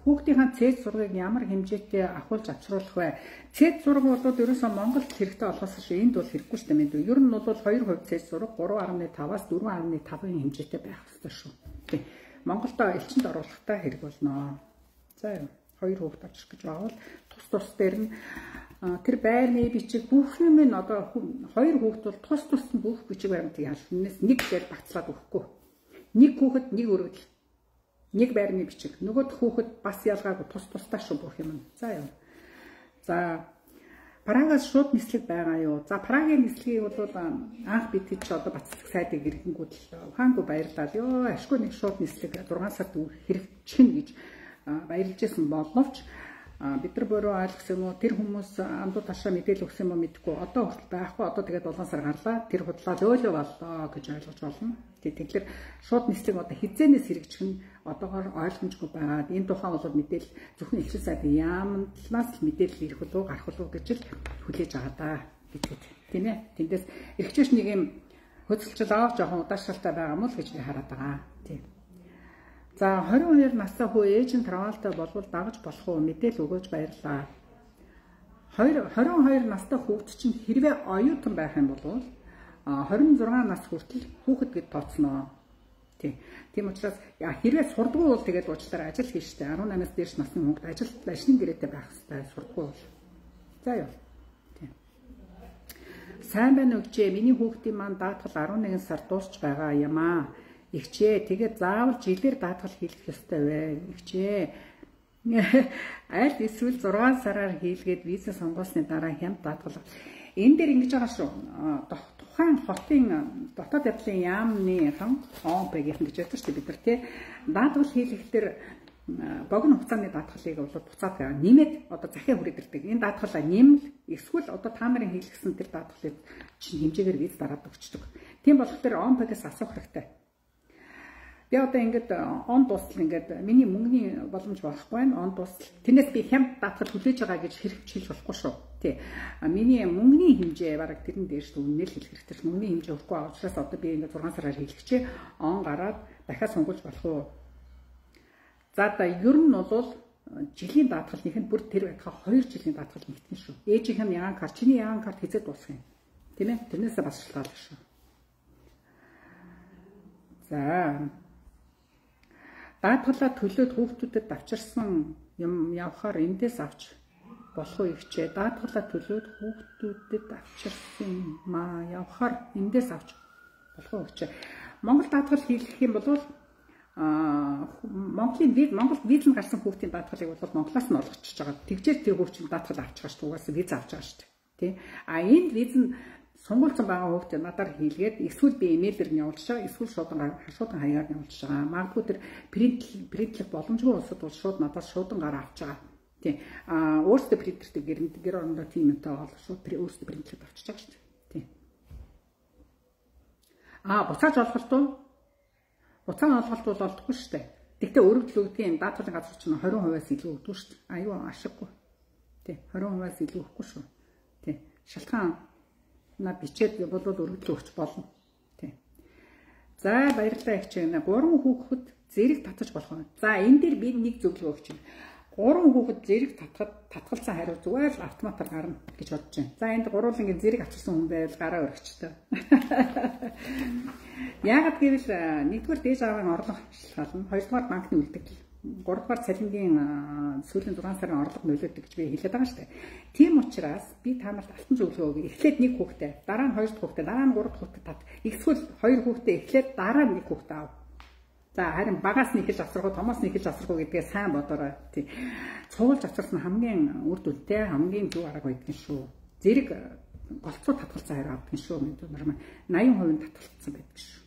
хүүхдийн цэц зургийг ямар хэмжээтэй ахуулж авчруулах вэ? Цэц зураг бол ерөөсөө Монголд хэрэгтэй болохоос шүү. Энд бол хэрэггүй шүү дээ мэд. Ер нь бол хоёр хувь цэц зураг гурван гаруй таваас дөрвөн гаруй тавын хэмжээтэй байх хэрэгтэй шүү. Тий. Монголдо элчинд оруулахтаа хэрэг болно. За юу хоёр хүүхд авчих гэж байгаа бол тус тус дээр нь тэр байрны бичиг бүх юм нь одоо хоёр хүүхд бол тус тус бүх бичиг баримтыг ялснаас нэг дээр багцлаад өгөхгүй. Нэг хүүхэд нэг өргөдөл. Нэг байрны бичиг. Нөгөөд хүүхэд бас ялгаагүй тус тусдаа шүү бүх юм. За юу. За Прагаас шууд нислэг байгаа юу? За Прагийн нислэгийг бол анх бид хэд ч одоо Бацлаг сайдыг ирэнгүүд л хаангүй баярлалаа. Йоо ашгүй нэг шууд нислэг зургаан сард хэрэгжих гэж баярлж байсан боловч бид нар бороо ойлгох юм уу тэр хүмүүс амдуу ташаа мэдээлэл өгсөн юм уу мэдэхгүй одоо хүртэл байхгүй одоо тэгээд улаан сар гарлаа тэр худлаа зөөлөө боллоо гэж ойлгож болно. Тэгэхээр шууд нислэг одоо хизээнээс хэрэгжих нь одоогоор ойлгомжгүй байгаад энэ тухайн бол мэдээлэл зөвхөн элчин сайдын яамтлаас л мэдээлэл ирэх болов гарах болов гэж л хүлээж байгаа даа гэдэг тийм ээ. Тэндээс эрхчээш нэг юм хөдөлгөл авах жоохон удаашралтай байгаа юм л гэж би хараад байгаа. Тийм. За хорин хоёр настай хүү ээж нь травмалтай болвол дагаж болох уу мэдээлэл өгөөж баярлаа. хорин хоёр настай хүүхэд чинь хэрвээ оюутан байх юм бол хорин зургаан нас хүртэл хүүхэд гэд тооцноо. Тийм. Тийм учраас хэрвээ сурдгүй бол тэгээд уучлаарай ажил хийн штэ. арван намаас дээш насны хүүхэд ажил ажлын гэрээтэй байх хэрэгтэй сурдгүй бол. За юу. Тийм. Сайн байна уу гэжээ. Миний хүүхдийн маань даатгал арван нэгэн сар дуусч байгаа юм аа. Игчээ тэгээд заавал жилээр даатгал хийлгэх ёстой вэ? Игчээ. Аль эсвэл зургаан сараар хийлгээд виза сонгосны дараа хямд даатгал. Энэ дээр ингэж байгаа шүү. Тухайн хотын дотоод явдлын яамны хам ООН-ийн гэж яддаг шүү бид нар тий. Даатгал хийлгэхдээ богино хугацааны даатгалыг бол буцаад нэмээд одоо захиа хүрээдэрдэг. Энэ даатгалаа нэмэл эсвэл одоо та нарын хийлгэсэн тэр даатгалыг чинь хэмжээгээр виз дараад өгчдөг. Тийм болохоор ООН-ээс асуух хэрэгтэй. Би одоо ингээд он дуустал ингээд миний мөнгөний боломж байхгүй байна. Он дуустал. Тэрнээс би хямд даатгал хүлээж байгаа гэж хэрэгч хэлж болохгүй шүү. Тий. Миний мөнгөний хэмжээ бараг тэрэн дээр шүү үнээр хэлэх хэрэгтэй. Мөнгөний хэмжээ өгөхгүй байгаа учраас одоо би ингээд зургаан сараар хэлчихээ. Он гараад дахиад сонгуулж болох уу? За та ер нь бол жилийн даатгалынх нь бүр тэр байтха хоёр жилийн даатгал нэгтгэн шүү. Ээжийнх нь ягаан карт, чиний ягаан карт хэзээ дуусах юм? Тийм ээ. Тэрнээсээ бас шалтгаалж шүү. За даатгалаа төлөөд хүүхдүүдэд авчирсан юм явахаар эндээс авч болох уу ихчээ. Даатгалаа төлөөд хүүхдүүдэд авчирсан маа явахаар эндээс авч болох уу ихчээ. Монгол даатгал хийх юм бол аа Монголын виз Монголд визэн гарсан хүүхдийн даатгалыг бол Монголоос нь олгочихж байгаа. Тэгжээ тэр хүүхд чинь даатгал авч байгаа шүү. Угаасаа виз авч байгаа шүү. Тий. А энд визэн сонгуульсан байгаа хүүхдээ надаар хийлгээд эсвэл би имэйлээр нь явуулж байгаа эсвэл шуудан шуудан хаягаар нь явуулж байгаа. Магадгүй тэр принт принтлэх боломжгүй улсад бол шууд надаас шуудан гараа авч байгаа. Тийм. Аа өөрсдөө принтертэй гэр гэр орондоо тийм юмтай бол шууд өөрсдөө принтлээд авчиж байгаа шүү дээ. Тийм. Аа буцааж олголт уу? Буцаан олголт бол олдохгүй шүү дээ. Тэгтээ өргөдөл өгдгийн даатгалын газар чинь двадцать хувиас илүү өгдөг шүү дээ. Аюу ашиггүй. Тийм. двадцать хувиас илүү өгөхгүй шүү. Тийм. Шалтгаан на бичээд бол өргөдөл өгч болно. Тийм. За баярлалаа их чинь. Гурван хүүхэд зэрэг татаж болох юм. За энэ дээр би нэг зөвлөгөө өгч байна. гурван хүүхэд зэрэг татхад татгалцсан хариу зүгээр л автоматар гарна гэж бодож байна. За энд гурвуулангийн зэрэг авчирсан хүн байвал гараа өргөчтэй. Яагаад гэвэл нэгдүгээр дээж аавын орлого шалгална, хоёрдугаар банкны үлдэгдэл, гуравдугаар цалингийн сүүлийн зургаан сарын орлого нөлөөдөг гэж би хэлээд байгаа шүү дээ. Тийм учраас би та нарт алтан зөвлөгөө өгье. Эхлээд нэг хүүхдээ, дараа нь хоёр дахь хүүхдээ, дараа нь гурав дахь хүүхдээ тат. Эсвэл хоёр хүүхдээ эхлээд дараа нь нэг хүүхдээ аав. За харин багаас нь ихэж авсрах уу, томоос нь ихэж авсрах уу гэдгээ сайн бодоорой. Тий. Цуулж авсарсан хамгийн үр дүнтэй, хамгийн зөв арга байдаг шүү. Зэрэг голцоо татгалцсан хариу авдаг шүү. Мэдүү нар маань восемь хувийн татгалцсан байдаг шүү.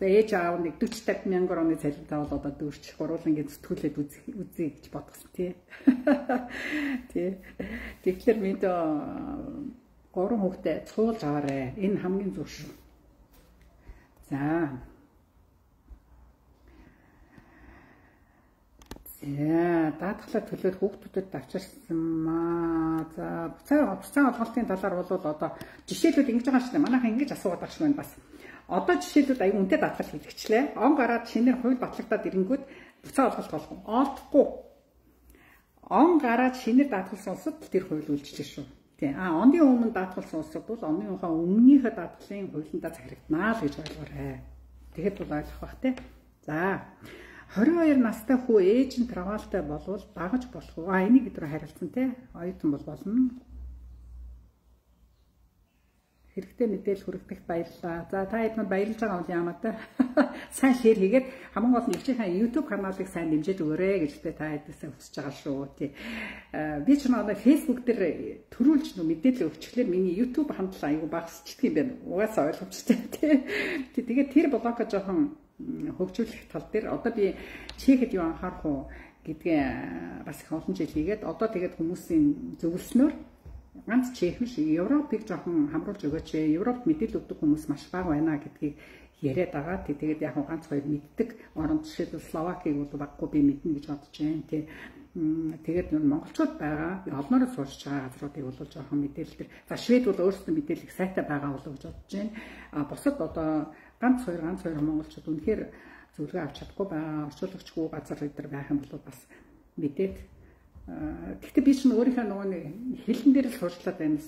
За ээж аав нэг forty fifty мянган орны цалинтай бол одоо дүүрч гурвуулангийн зүтгүүлээд үзье гэж бодсон тий. Тий. Тэгэхээр минь гурван хүүхдээ цуулж аваарэ. Энэ хамгийн зөв шүү. За. За, даатгалаа төлөөд хүүхдүүдэд авчирсан маа. За, буцаа буцаа олголтын талаар бол одоо жишээлүүд ингэж байгаа шүү дээ. Манайхан ингэж асуугаад байгаа шүү байна бас. Одоо жишээлүүд аюу үнэтэй даатгал хийлгэчлээ. Он гараад шинээр хууль батлагдаад ирэнгүүт буцаа олголт болох уу? Олдохгүй. Он гараад шинээр даатгалсан улсад тэр хууль үйлчилж шүү. Тий. А оны өмнө даатгалсан улсад бол оныхоо өмнөнийхөө даатгалын хуулиндаа захирагдмаа л гэж ойлгоорой. Тэгэхэд бол ойлгох бах тий. За. twenty two настай хүү ээж нь травмалтай болвол дагаж болох уу? А энийг өдрөө харилцсан тий. Оюутан бол болно. Хэрэгтэй мэдээлэл хүргэх баярлалаа. За та хэд манд баярлж байгаа бол яамаа та. Сайн шеэр хийгээд хамгийн гол нь өвчийнхээ YouTube каналыг сайн дэмжиж өгөөрэй гэжтэй та хэдээсээ хүсэж байгаа шүү тий. Би ч надад Facebook дээр төрүүлж нөө мэдээлэл өгчлөөр миний YouTube хандлага аягүй багасчдаг юм байна. Угаасаа ойлгомжтой тий. Тэгээд тэр блогоо жоохон хөгжүүлэх тал дээр одоо би чихэд юу анхаарах уу гэдгээ бас их олон жил хийгээд одоо тэгээд хүмүүсийн зөвлснөөр ганц чех биш Европыг жоохон хамруулж өгөөч. Европт мэдээлэл өгдөг хүмүүс маш бага байна гэдгийг яриад байгаа. Тэгээд яг ганц хоёр мэддэг орон жишээлбэл Словакийг бол баггүй би мэднэ гэж бодож байна тий. Тэгээд монголчууд байгаа олноороо суурч байгаа газруудыг бол жоохон мэдээлэл төр. За Швед бол өөрсдөө мэдээлэл сайтай байгаа болов гэж бодож байна. А бусад одоо ганц хоёр ганц хоёр монголчууд үнэхээр зөвлөгөө авч чадахгүй байгаа. Орчуулагчгүй газар дээр байх юм бол бас мэдээд. Гэхдээ би чинь өөрийнхөө нөгөө хэлэн дээр л суурьлаад байна,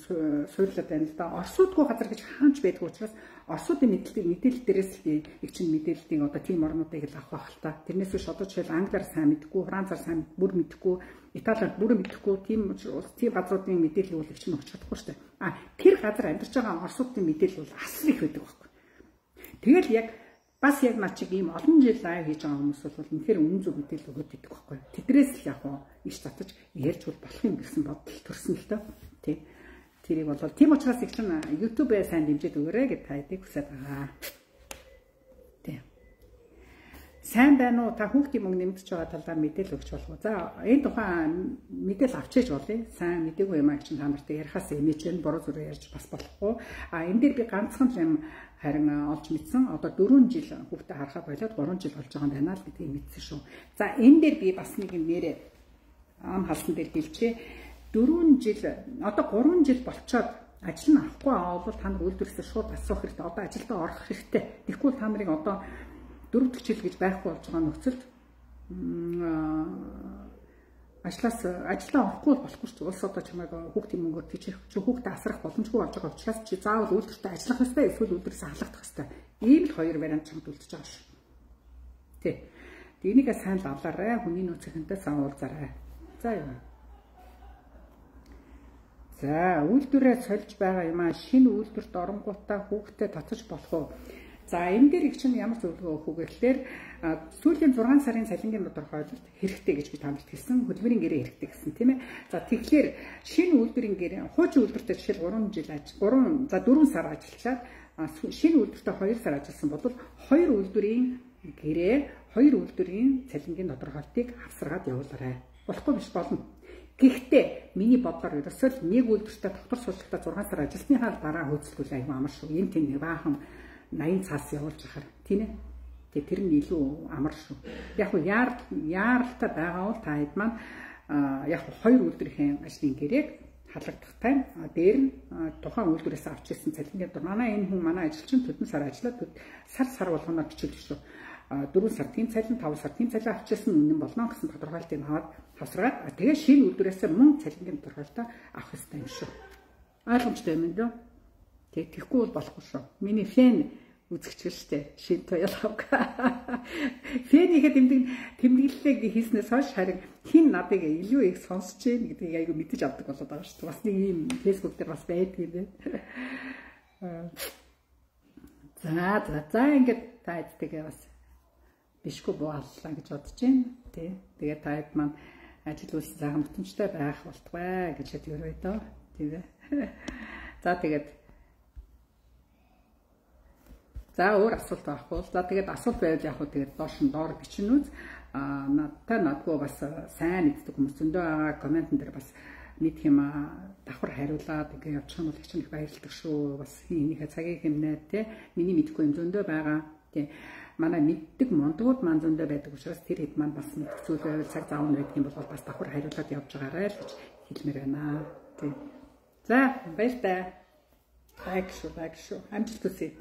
суурлаад байна л да. Орсуудгүй газар гэж хаанч байдгүй учраас орсуудын мэдээлэл мэдээлэл дээрээс л би их чинь мэдээллийг одоо тийм орнуудыг л авах байх л та. Тэрнээс биш одоо жишээл англиар сайн мэдгүй, францаар сайн бүр мэдгүй, италиар бүр мэдгүй тийм улс тийм газруудын мэдээлэл бол их чинь өгч чадахгүй шүү дээ. А тэр газар амьдарч байгаа орсуудын мэдээлэл бол асар их байдаг байхгүй. Тэгэл яг бас яг наа чиг ийм олон жил лайв хийж байгаа хүмүүс бол үнэхээр үнэн зөв мэдээлэл өгöd идэх байхгүй. Тэдрээс л яг уу иш татаж ярьж болох юм гэсэн бодол төрсөн л тоо. Тий. Тэрийг бол тийм учраас их чинь YouTube-ээ сайн дэмжиж өгөөрэй гэж тайдыг хүсэж байгаа. Тий. Сайн байна уу? Та хүүхдийн мөнгө нэмэгдэж байгаа талаар мэдээлэл өгч болох уу? За, энэ тухайн мэдээлэл авчиж болъё. Сайн мэдээгүй юм аа гэж та нартай ярихаас эмээж нь буруу зүрээр ярьж бас болохгүй. А энэ дээр би ганцхан юм харин олж мэдсэн. Одоо дөрвөн жил хүүхдээ харахаа болоод гурван жил болж байгаа юм байна л гэдгийг мэдсэн шүү. За, энэ дээр би бас нэг юм нэрээ ам халсан дээр хэлчихье. дөрвөн жил одоо гурван жил болцоод ажил нь авахгүй авал та нар үйлдвэрлэлээс шууд асуух хэрэгтэй. Одоо ажилдаа орох хэрэгтэй. Тэгэхгүй та нарыг одоо дөрөв дэх жил гэж байхгүй болж байгаа нөхцөлд ажлаас ажлаа орохгүй болохгүй ч улс одоо чамайг хүүхдийн мөнгөөр тийчих чи хүүхдээ асрах боломжгүй болж байгаа учраас чи заавал үйлдвэртээ ажиллах хэрэгтэй эсвэл үйлдвэрээс халахдах хэрэгтэй. Ийм л хоёр вариант чамд үлдэж байгаа шүү. Тэ. Энийгээ сайн лавлаарай. Хүний нөөцийнхэнтэй сан уулзаарай. За юу. За үйлдвэрээ сольж байгаа юм аа шинэ үйлдвэрт оронгуудаа хүүхдээ татаж болох уу? За энэ дээр их чинь ямар зөвлөгөө өгөх вэ гэхээр сүүлийн зургаан сарын цалингийн тодорхойлолт хэрэгтэй гэж би танд хэлсэн. Хөдөлмөрийн гэрээ хэрэгтэй гэсэн тийм ээ. За тэгэхээр шинэ үйлдвэрийн гэрээ хуучин үйлдвэртэй жишээл гурван жил ажил гурван за дөрвөн сар ажиллаад шинэ үйлдвэртэй хоёр сар ажилласан бол хоёр үйлдвэрийн гэрээ хоёр үйлдвэрийн цалингийн тодорхойлтыг авсаргаад явуулаарай. Болохгүй биш болно. Гэхдээ миний бодлоор ерөөсөө нэг үйлдвэртэй доктор сургалтад зургаан сар ажилласныхаа дараа хөөцөлгүүл аюу амар шүү. Энд тийм баахан наян цаас явуулж ахаар тийм ээ. Тэгээ тэр нь илүү амар шүү. Яг нь яар яаралтай байгаа бол та хэд маань яг хоёр үйлдвэрийн ажлын гэрээг халагдах тайм дээр нь тухайн үйлдвэрээс авч ирсэн цалингийн дор манай энэ хүн манай ажилчин төдөн сар ажиллаад сар сар болгоноор бичүүлж шүү. дөрвөн сартын цалин, таван сартын цалин авчихсан үнэн болно гэсэн тодорхойлтыг аваад хавсраад тэгээ шинэ үйлдвэрээс мөн цалингийн тодорхойлтоо авах хэрэгтэй юм шүү. Ойлгомжтой юм дөө. Тэг тэгэхгүй бол болохгүй шүү. Миний фэн үзэгчл штэ шин Toyota. Фэнихэд тэмдэг тэмдэглэлээ хийснээс хойш харин хин надыг илүү их сонсож гин гэдгийг айгу мэдэж авдаг болоод байгаа шүү. Бас нэг юм Facebook дээр бас байдаг юм байна. За за за ингээд таадтайгаа бас бишгүй бууллаа гэж бодож байна. Тий. Тэгээд таад маань ажил үйлс заахан бүтэмжтэй байх болтугай гэж хэд өрөө дөө. Тий. За тэгээд за өөр асуулт байхгүй. За тэгээд асуулт байвал яг хөө тэгээд доош нь доор бичнэ үз. Аа надтай надгүй бас сайн мэддэг хүмүүс зөндөө байгаа комментэн дээр бас мэдх юм аа давхар хариулаад ингээ явчих юм бол их их баярлдаг шүү. Бас энийхээ цагийг хэмнээд те миний мэдэхгүй юм зөндөө байгаа. Тий. Манай мэддэг мондгууд маань зөндөө байдаг учраас тэр хэд маань бас мэддэг зүйл байвал цаг заавал байдаг юм бол бас давхар хариулаад явж байгаарай л гэж хэлмээр байна. Тий. За баяр таа. Back show, back show. I'm just to see.